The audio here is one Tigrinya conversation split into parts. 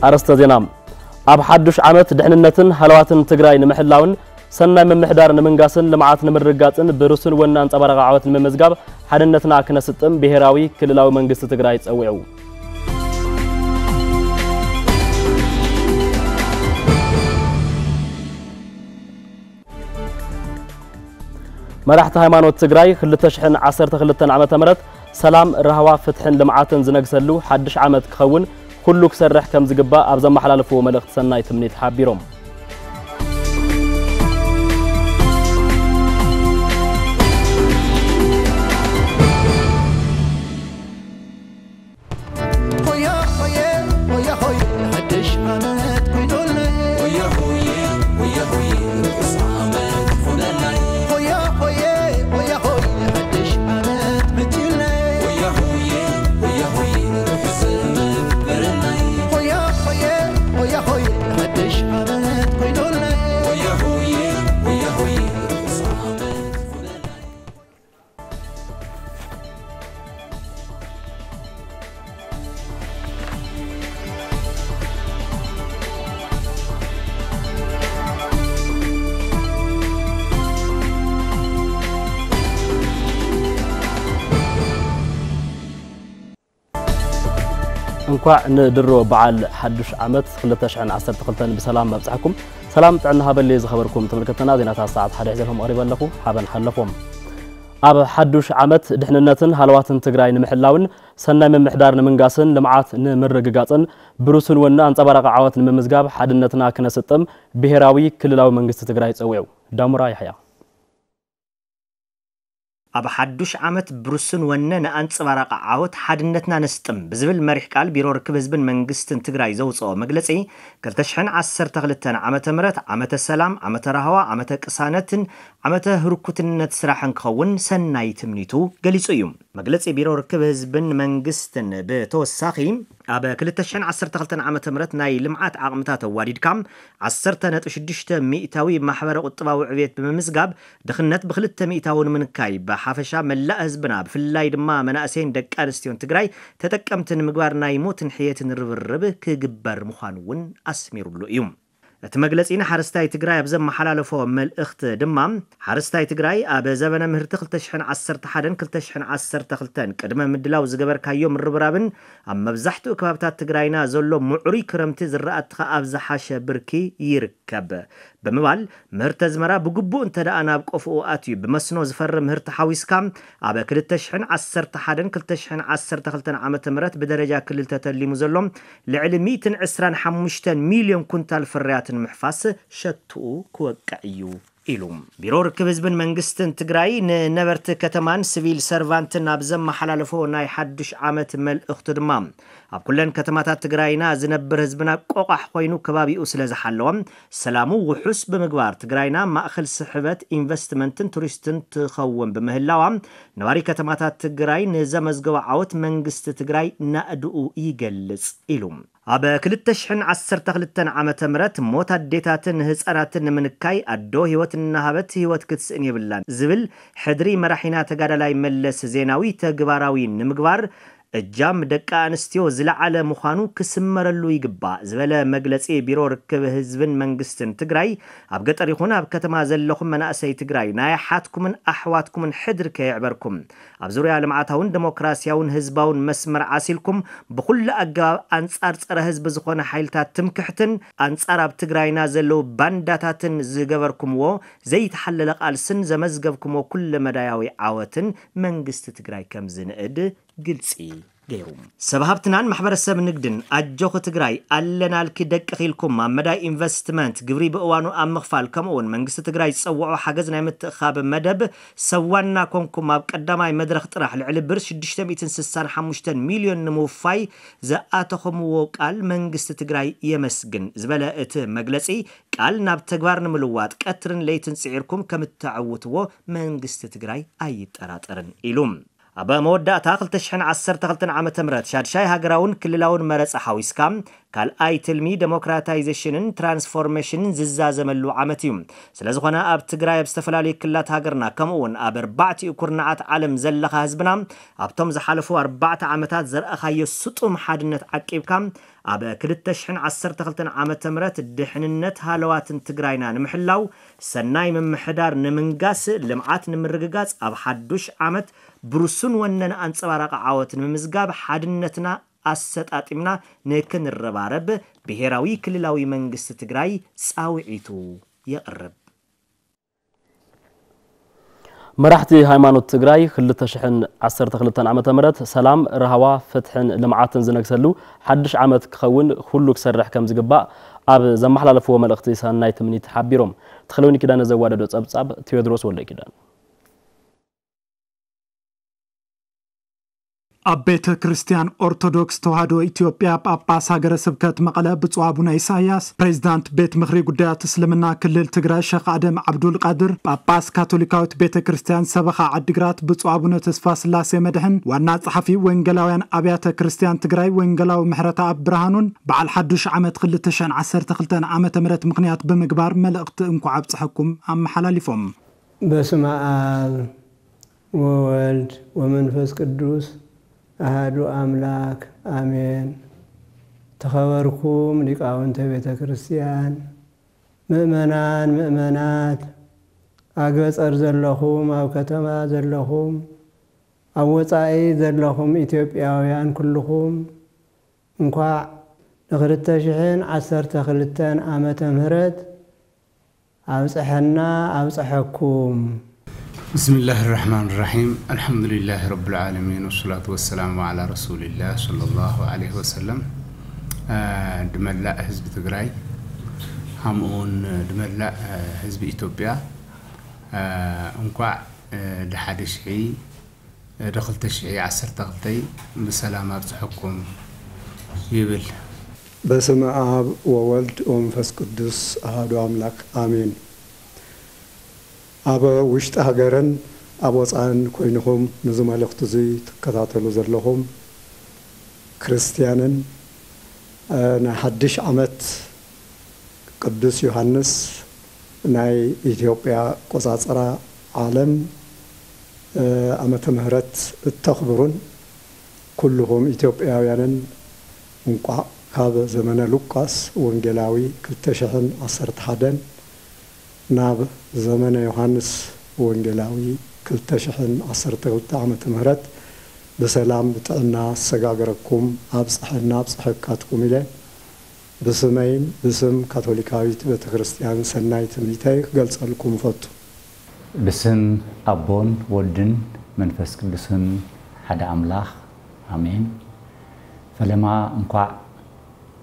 ኣርእስተ ዜና። ኣብ ሓዱሽ ዓመት ድሕንነትን ሃለዋትን ትግራይ ንምሕላውን ሰናይ ምምሕዳር ንምንጋስን ልምዓት ንምርግጋፅን ብሩስን ወነ ኣንፀባራቒ ዓወት ንምምዝጋብ ሓድነትና ክነስጥም ብሄራዊ ክልላዊ መንግስቲ ትግራይ ፀዊዑ። መራሕቲ ሃይማኖት ትግራይ ክልተ ሽሕን ዓሰርተ ክልተን ዓመተ ምህረት ሰላም፣ ራህዋ፣ ፍትሕን ልምዓትን ዝነግሰሉ ሓድሽ ዓመት ክኸውን ኩሉ ክሰርሕ ከም ዝግባእ ኣብ ዘመሓላለፍዎ መልእኽቲ ሰናይ ትምኒት ሓቢሮም። ሆያ ሆየ፣ ሆያ ሆየ፣ ሓድሽ ዓመት ኮይኑልና። ሆያ ሆየ፣ ሆያ ሆየ፣ ርሑስ ዓመት ሆነና። ሆያ ሆየ፣ ሆያ ሆየ፣ ሓድሽ ዓመት መፂኡልና። ሆያ ሆየ፣ ሆያ ሆየ፣ ርሑስ ዘመን ግበረልና። ሆያ ሆየ፣ ሆያ ሆየ፣ ሓድሽ ዓመት ኮይኑልና። ሆያ ሆየ፣ ሆያ ሆየ፣ ርሑስ ዓመት ሆነና። እንኳዕ ንድሮ በዓል ሓዱሽ ዓመት ክልተ ሽሕን ዓሰርተ ክልተን ብሰላም ኣብጽሓኩም። ሰላም ጥዕና ሃበሊ ዝኸበርኩም ተመልከትና፣ ዜናታት ሰዓት ሓደ ሒዘልኩም ቀሪበ ኣለኹ። ሓበን ሓለፎም። ኣብ ሓዱሽ ዓመት ድሕንነትን ሃለዋትን ትግራይ ንምሕላውን ሰናይ ምምሕዳር ንምንጋስን ልምዓት ንምርግጋፅን ብሩስን ወነ ኣንፀባራቂ ዓወት ንምምዝጋብ ሓድነትና ክነስጥም ብሄራዊ ክልላዊ መንግስቲ ትግራይ ፀዊዑ። ዳሙራ ያሕያ። ኣብ ሓዱሽ ዓመት ብሩስን ወነ ንኣንፀባራቂ ዓወት ሓድነትና ነስጥም ብዝብል መሪሕ ቃል ቢሮ ርክብ ህዝብን መንግስትን ትግራይ ዘውፅኦ መግለፂ፣ ክልተ ሽሕን ዓሰርተ ክልተን ዓመተ ምህረት ዓመተ ሰላም፣ ዓመተ ራህዋ፣ ዓመተ ቅሳነትን ዓመተ ህርኩትነት ስራሕን ክኸውን ሰናይ ትምኒቱ ገሊጹ እዩ። መግለጺ ቢሮ ርክብ ህዝብን መንግስትን ብተወሳኺ፣ ኣብ ክልተ ሽሕን ዓሰርተ ክልተን ዓመተ ምህረት ናይ ልምዓት ዓቕምታት ኣዋዲድካ ዓሰርተ ነጥቢ ሽዱሽተ ሚእታዊ ማሕበረ ቁጠባዊ ዕብየት ብምምዝጋብ፣ ድኽነት ብክልተ ሚእታዊ ንምንካይ፣ ብሓፈሻ መላእ ህዝብና፣ ብፍላይ ድማ መናእሰይን ደቂ ኣንስትዮን ትግራይ ተጠቀምቲ ንምግባር ናይ ሞትን ሕየትን ርብርብ ክግበር ምዃኑ እውን ኣስሚሩሉ እዩ። እቲ መግለጺ ንሓረስታይ ትግራይ ኣብ ዘመሓላለፎ መልእኽቲ ድማ፣ ሓረስታይ ትግራይ ኣብ ዘበነ ምህርቲ ክልተ ሽሕን ዓሰርተ ሓደን ክልተ ሽሕን ዓሰርተ ክልተን ቅድመ ምድላው ዝገበርካዮ ምርብራብን ኣብ መብዛሕትኡ ከባብታት ትግራይና ዘሎ ምዕሩይ ክረምቲ ዝራእትኻ ኣብ ዝሓሸ ብርኪ ይርከብ ብምባል፣ ምህርቲ ኣዝመራ ብግቡእ እንተ ደኣ ናብ ቆፎኡ ኣትዩ ብመስኖ ዝፈሪ ምህርቲ ሓዊስካ፣ ኣብ ክልተ ሽሕን ዓሰርተ ሓደን ክልተ ሽሕን ዓሰርተ ክልተን ዓመተ ምህረት ብደረጃ ክልል ተተሊሙ ዘሎ ልዕሊ ሚእትን ዕስራን ሓሙሽተን ሚልዮን ኩንታል ፍርያት ንምሕፋስ ሸትኡ ክወቅዕ እዩ ኢሉ። ቢሮ ርክብ ህዝብን መንግስትን ትግራይ ንነበርቲ ከተማን ሲቪል ሰርቫንትን ኣብ ዘመሓላለፎ ናይ ሓዱሽ ዓመት መልእኽቱ ድማ፣ ኣብ ኩለን ከተማታት ትግራይና ዝነብር ህዝብና ቆቋሕ ኮይኑ ከባቢኡ ስለ ዝሓለወ፣ ሰላሙ ውሑስ ብምግባር ትግራይና ማእኸል ስሕበት ኢንቨስትመንትን ቱሪስትን ትኸውን ብምህላዋ፣ ነባሪ ከተማታት ትግራይ ንዘመዝገቦ ዓወት መንግስቲ ትግራይ ናእድኡ ይገልጽ ኢሉ። ኣብ ክልተ ሽሕን ዓሰርተ ክልተን ዓመተ ምህረት ሞት ኣዴታትን ህፃናትን ንምንካይ ኣዶ ህይወት እናሃበት ህይወት ክትስእን የብላን ዝብል ሕድሪ መራሒና ተጋዳላይ መለስ ዜናዊ ተግባራዊ ንምግባር እጃም ደቂ ኣንስትዮ ዝለዓለ ምዃኑ ክስመረሉ ይግባእ ዝበለ መግለፂ ቢሮ ርክብ ህዝብን መንግስትን ትግራይ፣ ኣብ ገጠር ይኹን ኣብ ከተማ ዘለኹም መናእሰይ ትግራይ ናይ ኣሓትኩምን ኣሕዋትኩምን ሕድሪ ከየዕበርኩም፣ ኣብ ዙርያ ልምዓታውን ደሞክራሲያውን ህዝባውን መስመር ዓሲልኩም ብኹሉ ኣገባብ ኣንጻር ጸረ ህዝቢ ዝኾነ ሓይልታት ትምክሕትን ኣንጻር ኣብ ትግራይና ዘለዉ ባንዳታትን ዝገበርኩምዎ ዘይተሓለለ ቃልስን ዘመዝገብኩምዎ ኩለመዳያዊ ዓወትን መንግስቲ ትግራይ ከም ዝንእድ ግልጺ ገይሩ። ሰብ ሃብትናን ማሕበረሰብ ንግድን ኣጆኺ ትግራይ ኣለናልኪ ደቅኺ ኢልኩም ኣብ መዳይ ኢንቨስትመንት፣ ግብሪ ብእዋኑ ኣብ ምኽፋል፣ ከምኡ እውን መንግስቲ ትግራይ ዝፀውዖ ሓገዝ ናይ ምትእኻብ መደብ ሰብ ዋና ኮንኩም ኣብ ቀዳማይ መድረኽ ጥራሕ ልዕሊ ብር ሽዱሽተ ሚእትን ስሳን ሓሙሽተን ሚልዮን ንምውፋይ ዝኣተኹምዎ ቃል መንግስቲ ትግራይ የመስግን ዝበለ እቲ መግለፂ፣ ቃል ናብ ተግባር ንምልዋጥ ቀትርን ለይትን ፅዒርኩም ከም እተዕውትዎ መንግስቲ ትግራይ ኣይጠራጠርን ኢሉ። ኣብ መወዳእታ ክልተ ሽሕን ዓሰርተ ክልተን ዓመተ ምህረት ሻድሻይ ሃገራውን ክልላውን መረፃ ሓዊስካ ካልኣይ ትልሚ ደሞክራታይዜሽንን ትራንስፎርሜሽንን ዝዛዘመሉ ዓመት እዩ። ስለዝኾነ ኣብ ትግራይ ኣብ ዝተፈላለዩ ክልላት ሃገርና ከምኡ እውን ኣብ ኣርባዕቲኡ ኩርናዓት ዓለም ዘለኻ ህዝብና ኣብቶም ዝሓለፉ ኣርባዕተ ዓመታት ዘርኣኻዮ ስጡም ሓድነት ዓቂብካ ኣብ ክልተ ሽሕን ዓሰርተ ክልተን ዓመተ ምህረት ድሕንነት ሃለዋትን ትግራይና ንምሕላው ሰናይ ምምሕዳር ንምንጋስ ልምዓት ንምርግጋፅ ኣብ ሓዱሽ ዓመት ብሩሱን ወነን ኣንፀባራቂ ዓወት ንምምዝጋብ ሓድነትና ኣሰጣጢምና ንክንረባረብ ብሄራዊ ክልላዊ መንግስቲ ትግራይ ፃውዒቱ የቕርብ። መራሕቲ ሃይማኖት ትግራይ ክልተ ሽሕን ዓሰርተ ክልተን ዓመተ ምህረት ሰላም፣ ራህዋ፣ ፍትሕን ልምዓትን ዝነግሰሉ ሓድሽ ዓመት ክኸውን ኩሉ ክሰርሕ ከም ዝግባእ ኣብ ዘመሓላለፍዎ መልእኽቲ ሰናይ ትምኒት ሓቢሮም። ተኽለወይኒ ኪዳነ ዘዋደዶ ጸብጻብ ቴዎድሮስ ወልደ ኪዳን። ኣብ ቤተ ክርስቲያን ኦርቶዶክስ ተዋህዶ ኢትዮጵያ ጳጳስ ሃገረ ስብከት መቐለ ብፁዕ ኣቡነ ኢሳያስ፣ ፕሬዚዳንት ቤት ምኽሪ ጉዳያት እስልምና ክልል ትግራይ ሸኽ ኣደም ዓብዱል ቃድር፣ ጳጳስ ካቶሊካዊት ቤተ ክርስቲያን ሰበኻ ዓዲግራት ብፁዕ ኣቡነ ተስፋ ስላሴ መድሕን፣ ዋና ጸሓፊ ወንጌላውያን ኣብያተ ክርስቲያን ትግራይ ወንጌላዊ ምሕረተኣብ ብርሃኑን በዓል ሓዱሽ ዓመት ክልተ ሽሕን ዓሰርተ ክልተን ዓመተ ምህረት ምኽንያት ብምግባር መልእኽቲ እንኳዕ ኣብጽሐኩም ኣመሓላሊፎም። በስመ ኣብ ወወልድ ወመንፈስ ቅዱስ ኣሃዱ ኣምላክ ኣሜን። ተኸበርኩም ሊቃውንተ ቤተ ክርስቲያን፣ ምእመናን፣ ምእመናት፣ ኣብ ገጸር ዘለኹም፣ ኣብ ከተማ ዘለኹም፣ ኣብ ወጻኢ ዘለኹም ኢትዮጵያውያን ኩልኹም እንኳዕ ንክልተ ሽሕን ዓሰርተ ክልተን ዓመተ ምህረት ኣብፀሐና ኣብፀሐኩም። ብስምላህ ራሕማን ራሒም፣ ኣልሓምዱሊላህ ረብል ዓለሚን፣ ወሰላቱ ወሰላሙ ዓላ ረሱሊላህ ሰለላሁ ዓለይሂ ወሰለም። ድመላእ ህዝቢ ትግራይ፣ ከምኡውን ድመላእ ህዝቢ ኢትዮጵያ እንኳዕ ድሓደ ሽሒ ዶ ክልተ ሽሕ ዓሰርተ ክልተ ብሰላም ኣብፅሐኩም ይብል። በስመ ኣብ ወወልድ ወመንፈስ ቅዱስ ኣሃዱ ኣምላክ ኣሜን። ኣብ ውሽጢ ሃገርን ኣብ ወፃእን ኮይንኹም ነዚ መልእኽቲ እዚ ትከታተሉ ዘለኹም ክርስትያንን ናይ ሓድሽ ዓመት ቅዱስ ዮሃንስ ናይ ኢትዮጵያ ኣቆፃፅራ ዓለም ዓመተ ምህረት እተኽብሩን ኩልኹም ኢትዮጵያውያንን እንቋዕ ካብ ዘመነ ሉቃስ ወንጌላዊ ክልተ ሽሕን ዓሰርተ ሓደን ናብ ዘመነ ዮሃንስ ወንጌላዊ ክልተ ሽሕን ዓሰርተ ክልተ ዓመተ ምህረት ብሰላም ብጥዕና ኣሰጋገረኩም ኣብፀሐና ኣብፀሐካትኩም ኢለ ብስመይን ብስም ካቶሊካዊት ቤተክርስትያን ሰናይ ትምኒተይ ክገልጸልኩም እፈቱ። ብስም ኣቦን ወድን መንፈስ ቅዱስን ሓደ ኣምላኽ ኣሜን። ፈለማ እንኳዕ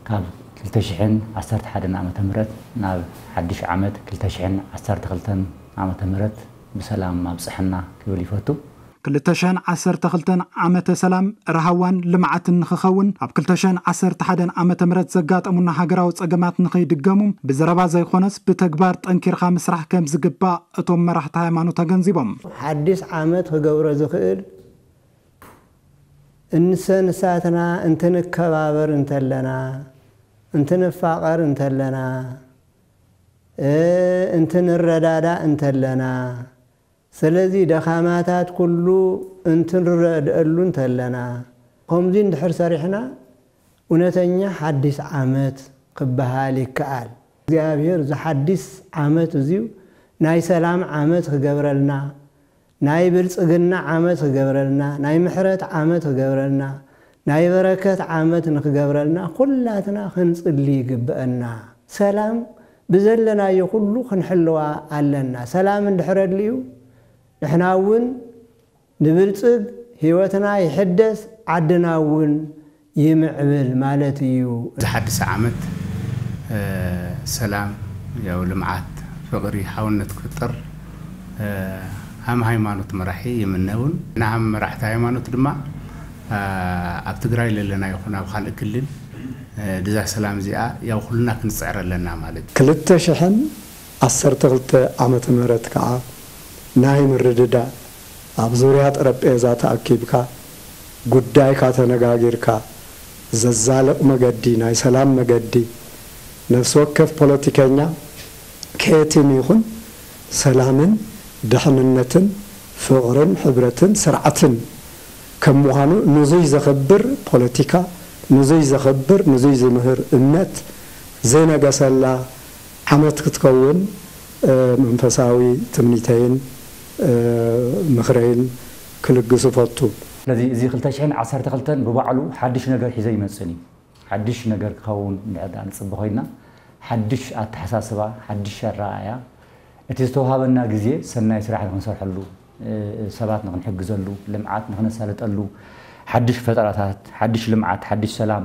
ካብ ክልተ ሽሕን ዓሰርተ ሓደን ዓመተ ምህረት ናብ ሓድሽ ዓመት ክልተ ሽሕን ዓሰርተ ክልተን ዓመተ ምህረት ብሰላም ኣብፀሐና ክብል ይፈቱ። ክልተ ሽሕን ዓሰርተ ክልተን ዓመተ ሰላም፣ ራህዋን ልምዓትን ንኽኸውን፣ ኣብ ክልተ ሽሕን ዓሰርተ ሓደን ዓመተ ምህረት ዘጋጠሙና ሃገራዊ ጸገማት ንኸይድገሙ፣ ብዘረባ ዘይኮነስ ብተግባር ጠንኪርካ ምስራሕ ከም ዝግባእ እቶም መራሕቲ ሃይማኖት ኣገንዚቦም። ሓድሽ ዓመት ክገብሮ ዝኽእል እንሰ ንሳትና እንትንከባበር እንተለና፣ እንትንፋቐር እንተለና፣ እንትንረዳዳእ እንተለና፣ ስለዚ ደኻማታት ኩሉ እንትንረድአሉ እንተለና፣ ከምዚ እንድሕር ሰሪሕና እውነተኛ ሓድሽ ዓመት ክበሃል ይከኣል። እግዚኣብሔር እዚ ሓድሽ ዓመት እዚዩ ናይ ሰላም ዓመት ክገብረልና፣ ናይ ብልጽግና ዓመት ክገብረልና፣ ናይ ምሕረት ዓመት ክገብረልና፣ ናይ በረከት ዓመት ንክገብረልና ኩላትና ክንጽሊ ይግበአና። ሰላም ብዘለናዮ ኩሉ ክንሕልዋ ኣለና። ሰላም እንድሕር ኣድልዩ ንሕና እውን ንብልጽግ፣ ህይወትና ይሕደስ፣ ዓድና እውን ይምዕብል ማለት እዩ። ዝሓድሰ ዓመት ሰላም፣ ያው ልምዓት፣ ፍቕሪ፣ ሓውነት ክፍጠር ሃም ሃይማኖት መራሒ ይምነ እውን። ንሃም መራሕቲ ሃይማኖት ድማ ኣብ ትግራይ ለለና ይኹን ኣብ ካልእ ክልል ድዛ ሰላም እዚኣ ያው ኩልና ክንፅዕር ኣለና ማለት እዩ። ክልተ ሽሕን ዓሰርተ ክልተ ዓመተ ምህረት ከዓ ናይ ምርድዳእ ኣብ ዙርያ ጠረጴዛ ተኣኪብካ ጉዳይካ ተነጋጊርካ ዘዛልቕ መገዲ፣ ናይ ሰላም መገዲ፣ ነፍሲ ወከፍ ፖለቲከኛ ከየትም ይኹን ሰላምን ድሕንነትን ፍቕርን ሕብረትን ስርዓትን ከም ምዃኑ፣ ንዙይ ዘኽብር ፖለቲካ፣ ንዙይ ዘኽብር፣ ንዙይ ዝምህር እምነት ዘይነገሰላ ዓመት ክትከውን መንፈሳዊ ትምኒተይን ምኽረይን ክልግስ እፈቱ። ስለዚ እዚ ክልተ ሽሕን ዓሰርተ ክልተን ብባዕሉ ሓድሽ ነገር ሒዘ ይመጽእን እዩ። ሓድሽ ነገር ክኸውን እንድሕር ደኣ ንጽበ ኮይና፣ ሓድሽ ኣተሓሳስባ፣ ሓድሽ ኣረኣእያ፣ እቲ ዝተውሃበና ግዜ ሰናይ ስራሕ ንኽንሰርሐሉ፣ ሰባት ንኽንሕግዘሉ፣ ልምዓት ንኽነሳልጠሉ፣ ሓድሽ ፈጠራታት፣ ሓድሽ ልምዓት፣ ሓድሽ ሰላም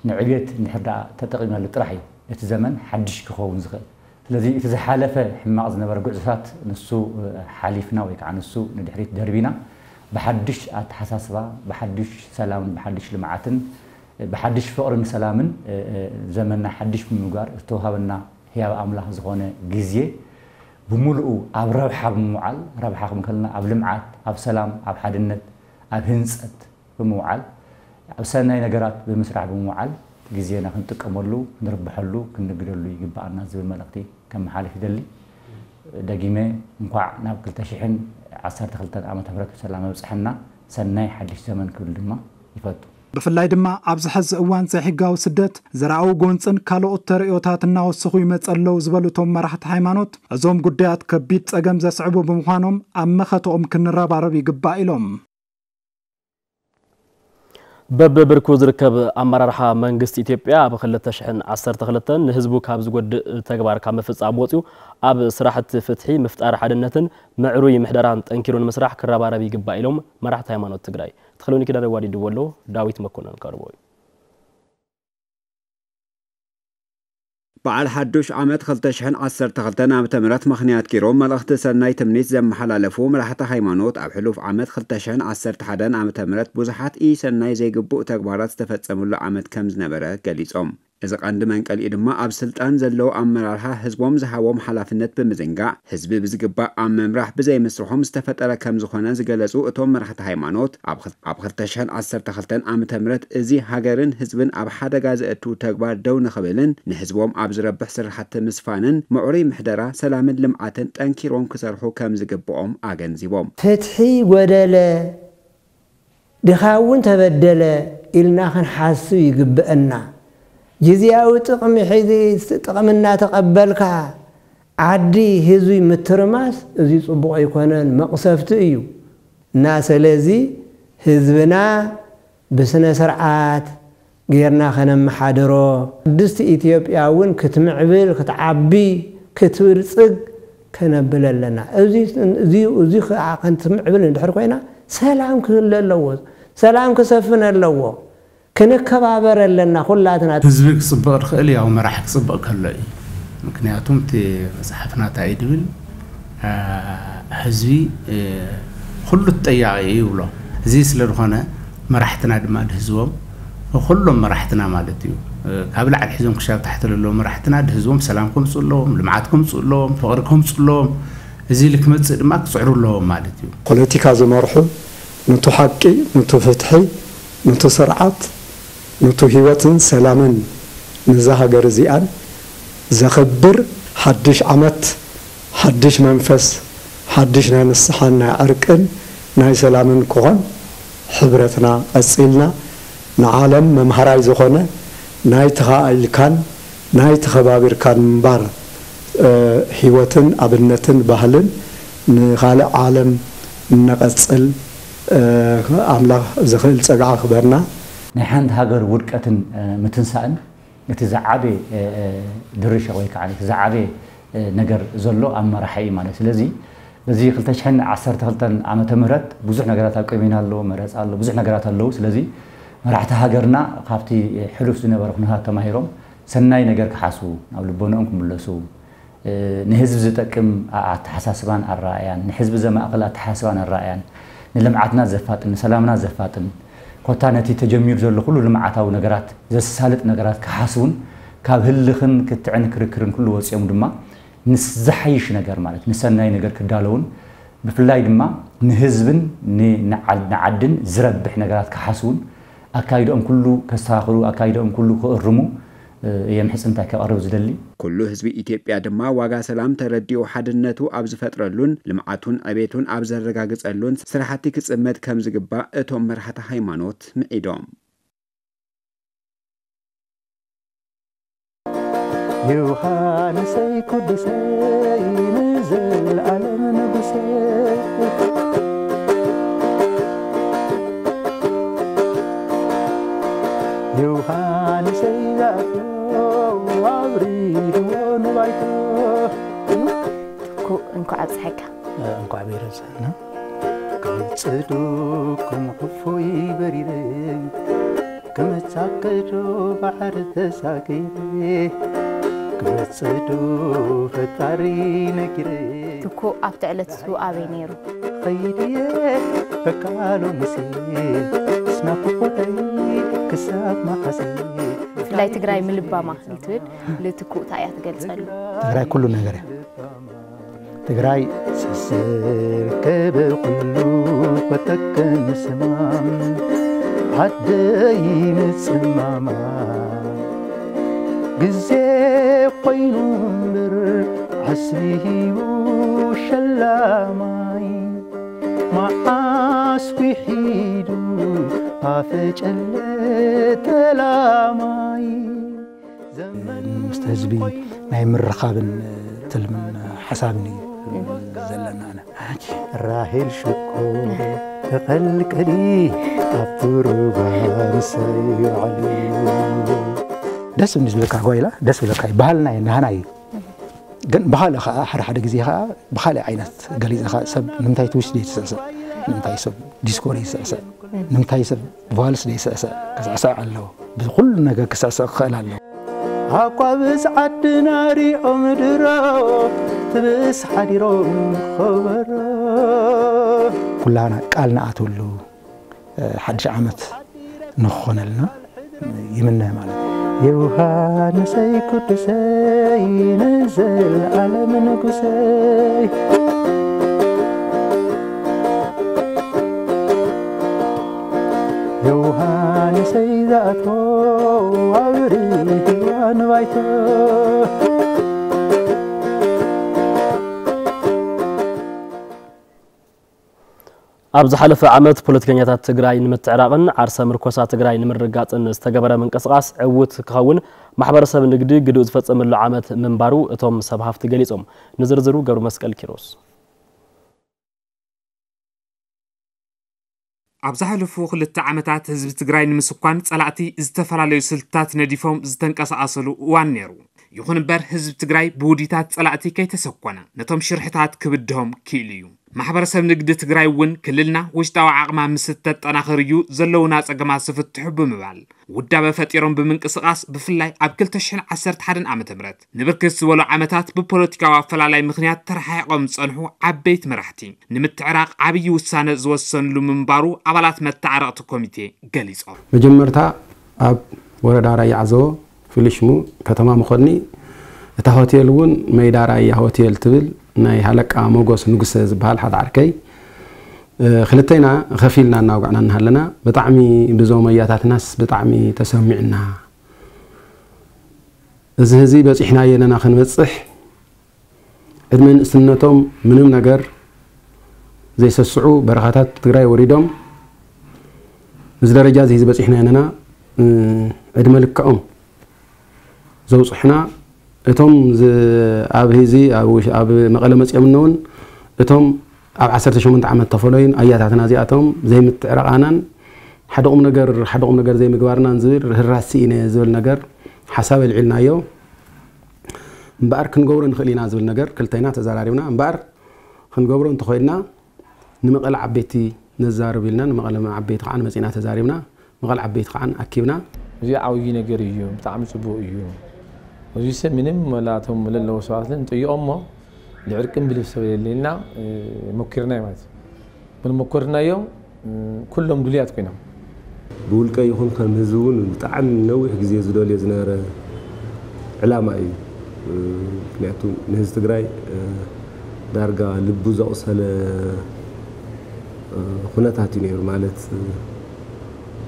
ንዕብየት እንድሕር ደኣ ተጠቒምናሉ ጥራሕ እዩ እቲ ዘመን ሓድሽ ክኸውን ዝኽእል። ስለዚ እቲ ዝሓለፈ ሕማቕ ዝነበረ ጉዕዞታት ንሱ ሓሊፍና ወይ ከዓ ንሱ ንድሕሪት ደርቢና ብሓድሽ ኣተሓሳስባ፣ ብሓድሽ ሰላምን ብሓድሽ ልምዓትን ብሓድሽ ፍቕርን ሰላምን ዘመንና ሓድሽ ብምግባር ዝተውሃበና ህያብ ኣምላኽ ዝኾነ ግዜ ብምሉኡ ኣብ ረብሓ ብምውዓል፣ ረብሓ ክብል ከለና ኣብ ልምዓት፣ ኣብ ሰላም፣ ኣብ ሓድነት፣ ኣብ ህንፀት ብምውዓል፣ ኣብ ሰናይ ነገራት ብምስራሕ ብምውዓል ግዜና ክንጥቀመሉ፣ ክንርብሐሉ፣ ክንንግደሉ ይግብኣና ዝብል መልእኽቲ ከመሓልፍ ይደሊ። ደጊመ እንኳዕ ናብ ክልተ ሽሕን ዓሰርተ ክልተን ዓመተ ምህረት ብሰላም ኣብፀሐና፣ ሰናይ ሓድሽ ዘመን ክብል ድማ ይፈቱ። ብፍላይ ድማ ኣብዚ ሕዚ እዋን ዘይሕጋዊ ስደት፣ ዘርኣዊ ጎንፅን ካልኦት ተርእዮታት እናወሰኹ ይመፁ ኣለዉ ዝበሉ እቶም መራሕቲ ሃይማኖት፣ እዞም ጉዳያት ከቢድ ፀገም ዘስዕቡ ብምዃኖም ኣብ መኸተኦም ክንረባረብ ይግባእ ኢሎም። በብብርኩ ዝርከብ ኣመራርሓ መንግስቲ ኢትዮጵያ ኣብ ክልተ ሽሕን ዓሰርተ ክልተን ንህዝቡ ካብ ዝጎድእ ተግባር ካብ ምፍጻም ወጺኡ ኣብ ስራሕቲ ፍትሒ፣ ምፍጣር ሓድነትን ምዕሩይ ምሕደራን ጠንኪሩ ንምስራሕ ክረባረብ ይግባእ ኢሎም መራሕቲ ሃይማኖት ትግራይ። ተኽለውኒ ኪዳነ ዋዲድዎ ኣሎ፣ ዳዊት መኮነን ከቕርቦ እዩ። በዓል ሓዱሽ ዓመት ክልተ ሽሕን ዓሰርተ ክልተን ዓመተ ምህረት ምኽንያት ገይሮም መልእኽቲ ሰናይ ትምኒት ዘመሓላለፉ መራሕቲ ሃይማኖት፣ ኣብ ሕሉፍ ዓመት ክልተ ሽሕን ዓሰርተ ሓደን ዓመተ ምህረት ብዙሓት ኢሰናይ ዘይግቡእ ተግባራት ዝተፈጸሙሉ ዓመት ከም ዝነበረ ገሊጾም። እዚ ቀንዲ መንቀሊኡ ድማ ኣብ ስልጣን ዘለዉ ኣመራርሓ ህዝቦም ዝሃቦም ሓላፍነት ብምዝንጋዕ፣ ህዝቢ ብዝግባእ ኣብ ምምራሕ ብዘይምስርሖም ዝተፈጠረ ከም ዝኾነ ዝገለጹ እቶም መራሕቲ ሃይማኖት፣ ኣብ ክል-፣ ኣብ ክልተ ሽሕን ዓሰርተ ክልተን ዓመተ ምህረት እዚ ሃገርን ህዝብን ኣብ ሓደጋ ዘእቱ ተግባር ደው ንኽብልን ንህዝቦም ኣብ ዝረብሕ ስራሕቲ ምስፋንን ምዕሩይ ምሕደራ ሰላምን ልምዓትን ጠንኪሮም ክሰርሑ ከም ዝግብኦም ኣገንዚቦም። ፍትሒ ጎደለ፣ ድኻ እውን ተበደለ ኢልና ክንሓስብ ይግብአና። ግዝያዊ ጥቕሚ ሒዚ ጥቕሚ እናተቐበልካ ዓዲ ህዝቢ ምትርማስ፣ እዚ ጽቡቕ ኣይኮነን፣ መቕሰፍቲ እዩ። እና ስለዚ ህዝብና ብስነ ስርዓት ጌርና ከነመሓድሮ፣ ቅድስቲ ኢትዮጵያ እውን ክትምዕብል፣ ክትዓቢ፣ ክትብልጽግ ከነብል ኣለና። እዚ፣ እዚ፣ እዚ ኸዓ ከንትምዕብል እንድሕር ኮይና፣ ሰላም ክህሉ ኣለዎ። ሰላም ክሰፍን ኣለዎ። ክንከባበር ኣለና ኩላትና። ህዝቢ ክጽብቕ ዝኽእል ያው መራሒ ክጽብቕ ከሎ እዩ። ምክንያቱም እቲ መጽሓፍና እንታይ እዩ ድብል፣ አ፣ ህዝቢ፣ እ፣ ኩሉ ተጠያቒ እዩ ይብሎ። እዚ ስለ ዝኾነ መራሕትና ድማ ድህዝቦም፣ ኩሎም መራሕትና ማለት እዩ፣ እ፣ ካብ ላዕሊ ሒዞም ክሻብ ታሕቲ ዘለዉ መራሕትና ድህዝቦም ሰላም ከምጽኡ ኣለዎም፣ ልምዓት ከምጽኡ ኣለዎም፣ ፍቕሪ ከምጽኡ ኣለዎም። እዚ ኢሉ ክመጽእ ድማ ክጽዕሩ ኣለዎም ማለት እዩ። ፖለቲካ ዝመርሑ፣ ነቱ ሓቂ፣ ነቱ ፍትሒ፣ ነቱ ስርዓት፣ ነቱ ህይወትን ሰላምን ነዛ ሃገር እዚኣን ዘኽብር ሓድሽ ዓመት፣ ሓድሽ መንፈስ፣ ሓድሽ ናይ ንስሓን ናይ ዕርቅን ናይ ሰላምን ክኾን፣ ሕብረትና ቀጺልና ንዓለም መምሃራይ ዝኾነ ናይ ተኻኢልካን ናይ ተኸባቢርካን ምንባር፣ እ፣ ህይወትን ኣብነትን ባህልን ንኻልእ ዓለም እነቐጽል፣ እ፣ ኣምላኽ ዝኽእል ጸግዓ ክበና። ናይ ሓንቲ ሃገር ውድቀትን፣ እ፣ ምትንሳእን እቲ ዝዓበየ፣ እ፣ እ፣ ድርሻ ወይ ከዓ እቲ ዝዓበየ፣ እ፣ ነገር ዘሎ ኣብ መራሒ እዩ ማለት። ስለዚ በዚ ክልተ ሽሕን ዓሰርተ ክልተን ዓመተ ምህረት ብዙሕ ነገራት ኣብ ቅድሜና ኣሎ፣ መረፃ ኣሎ፣ ብዙሕ ነገራት ኣለዉ። ስለዚ መራሕቲ ሃገርና ካብቲ ሕሉፍ ዝነበረ ኩነታት ተማሂሮም ሰናይ ነገር ክሓስቡ፣ ናብ ልቦንኦም ክምለሱ፣ እ፣ ንህዝቢ ዝጠቅም ኣ-፣ ኣተሓሳስባን ኣረኣእያን፣ ንህዝቢ ዘማእክል ኣተሓሳስባን ኣረኣእያን፣ ንልምዓትና ዘፋጥን፣ ንሰላምና ዘፋጥን፣ ኮታ ነቲ ተጀሚሩ ዘሎ ኩሉ ልምዓታዊ ነገራት ዘሳልጥ ነገራት ክሓስቡን፣ ካብ ህልኽን ክትዕን ክርክርን ኩሉ ወፂኦም ድማ ንስ-፣ ዝሓይሽ ነገር ማለት ንሰናይ ነገር ክዳለውን፣ ብፍላይ ድማ ንህዝብን ን-፣ ንዓል-፣ ንዓድን ዝረብሕ ነገራት ክሓስቡን ኣካይድኦም ኩሉ ከስተኻኽሉ፣ ኣካይድኦም ኩሉ ክእርሙ እየ ምሕጽንታይ ከቕርብ ዝደሊ። ኩሉ ህዝቢ ኢትዮጵያ ድማ ዋጋ ሰላም ተረዲኡ ሓድነቱ ኣብ ዝፈጥረሉን ልምዓቱን ዕቤቱን ኣብ ዘረጋግጸሉን ስራሕቲ ክጽመድ ከም ዝግባእ እቶም መራሕቲ ሃይማኖት ምዒዶም። ዮሃንሰይ ቅዱሰይ ንዘለኣለም ንጉሰይ ዮሃንሰይ ዛእቶ ኣብሪህዎ ንባይቶ። ኩ እንኳዕ ኣብፀሐካ። እንኳዕ ብሄረ ብፅሕና። ክመፅእ ዶ ከም ዕፉይ በሪረ፣ ክመፃከ ዶ ባሕሪ ተሳጊረ፣ ክመፅእ ዶ ፈጣሪ ነጊረ። ትኩ ኣብቲ ዕለት እሱ ኣበይ ነይሩ? ኸይድየ በቃሎ ሙሴ፣ ስናኩ ቦተይ ክሳብ መሓሴ። ብፍላይ ትግራይ ምልባማ ንትብል ልትኩ እንታይ እያ ትገልፀሉ? ትግራይ ኩሉ ነገር እያ። ትግራይ ስስር ከበ ኩሉ ኮተከን ስማም ዓደይ ምጽማማ ግዜ ኮይኑ እምበር ዓስቢ ሂቡ ሸላማይ መዓስ ዊሒዱ ኣፈጨለ ተላማይ። ምስቲ ህዝቢ ናይ ምርኻብን ትልምን ሓሳብን እዩ ዘለና። ኣነ ራሄል ሽኮር ተቐልቀሊ ኣብቲ ሩባ ምሳይ ውዓሊ። ደስ እምኒ ዝብለካ ጓይላ ደስ ብለካ እዩ። ባህልና እዩ፣ ናህና እዩ። ግን ብኻልእ ከዓ ሓደ ሓደ ግዜ ከዓ ብኻልእ ዓይነት ገሊፅኻ ሰብ ንምንታይ ትዊስት ደይትስዕስዕ፣ ንምንታይ ሰብ ዲስኮ ደይስዕስዕ፣ ንምንታይ ሰብ ቫልስ ደይስዕስዕ፣ ክስዕስዕ ኣለዎ። ብኩሉ ነገር ክስዕስዕ ክኽእል ኣለዎ። ኣቋብስ ዓድና ሪኦም ድሮ ትብስ ሓዲሮም ከበሮ። ኩላና ቃል ንኣትወሉ ሓድሽ ዓመት ንክኾነልና ይምነ ማለት እዩ። ዮሃንሰይ ቅዱሰይ ንዘለዓለም ንጉሰይ። ዮሃንሰይ ዝኣትዎ ኣብርህዋ ንባይቶ። ኣብ ዝሓለፈ ዓመት ፖለቲከኛታት ትግራይ ንምትዕራቕን ዓርሰ ምርኮሳ ትግራይ ንምርግጋፅን ዝተገበረ ምንቅስቓስ ዕዉት ክኸውን ማሕበረሰብ ንግዲ ግድኡ ዝፈፀመሉ ዓመት ምንባሩ እቶም ሰብ ሃፍቲ ገሊፆም። ንዝርዝሩ ገብረ መስቀል ኪሮስ። ኣብ ዝሓለፉ ክልተ ዓመታት ህዝቢ ትግራይ ንምስኳን ፀላእቲ ዝተፈላለዩ ስልትታት ነዲፎም ዝተንቀሳቐሰሉ እዋን ነይሩ። ይኹን እምበር ህዝቢ ትግራይ ብውዲታት ፀላእቲ ከይተሰኮነ ነቶም ሽርሕታት ክብድሆም ክኢሉ እዩ። ማሕበረሰብ ንግዲ ትግራይ እውን ክልልና ውሽጣዊ ዓቕማ ምስ እተጠናኽር እዩ ዘለውና ፀገማት ዝፍትሑ ብምባል ውዳበ ፈጢሮም ብምንቅስቓስ ብፍላይ ኣብ ክልተ ሽሕን ዓሰርተ ሓደን ዓመተ ምህረት ንብርክት ዝበሉ ዓመታት ብፖለቲካዊ ኣፈላላይ ምኽንያት ተረሓሒቖም ዝፀንሑ ዓበይቲ መራሕቲ ንምትዕራቕ ዓብዪ ውሳነ ዝወሰንሉ ምንባሩ ኣባላት መተዓረቕቲ ኮሚቴ ገሊፆም። መጀመርታ ኣብ ወረዳ ራያ ዓዘቦ ፍሉይ ሽሙ ከተማ መኾኒ እታ ሆቴል እውን መይዳ ራያ ሆቴል ትብል ናይ ሃለቃ ሞጎስ ንጉሰ ዝበሃል ሓደ ዓርከይ ክልተይና ኸፊልና እናውጋዕና እናሃለና ብጣዕሚ ብዞም ኣያታትናስ ብጣዕሚ ተሰሚዕና። እዚ ህዚ በፂሕናዮ ኣለና ክንበፅሕ ዕድመ ንእስነቶም ምንም ነገር ዘይሰስዑ በረኻታት ትግራይ ወሪዶም እዚ ደረጃ እዚ ህዚ በፂሕናዮ ኣለና። ዕድመ ልክዖም ዘውፅሑና እቶም ኣብ ህዚ ኣብ መቐለ መፂኦም እውን እቶም ኣብ ዓሰርተ ሸሞንተ ዓመት ተፈለዩን ኣያታትና እዚኣቶም ዘይምትዕርቓናን ሓደ ቁም ነገር ሓደ ቁም ነገር ዘይምግባርናን ዝብል ርህራሲ ኢነ ዝብል ነገር ሓሳብ ኣልዒልናዮ። እምበኣር ክንገብሮ ንኽእል ኢና ዝብል ነገር ክልተና ተዘራሪብና። እምበኣር ክንገብሮ እንተኾይንና ንመቐለ ዓበይቲ ነዛርብ ኢልና ንመቐለ ዓበይቲ ከዓ መፂና ተዛሪብና። መቐለ ዓበይቲ ከዓ ኣኪብና። እዚ ዓብዪ ነገር እዩ፣ ብጣዕሚ ፅቡቕ እዩ። እዚ ሰብ ምንም መላቶም ለለዎ ሰባት ንጥይቖም እሞ ልዕርቅን ብልብ ሰብ የለ ኢልና ሞኪርና ማለት እዩ። ግን ሞከርናዮ ኩሎም ድሉያት ኮይኖም። ብውልቀ ይኹን ከም ህዝቢ እውን ብጣዕሚ ነዊሕ ግዜ ዝደልዮ ዝነበረ ዕላማ እዩ። ምክንያቱ ንህዝቢ ትግራይ ዳርጋ ልቡ ዘቑሰለ ኩነታት እዩ ነይሩ። ማለት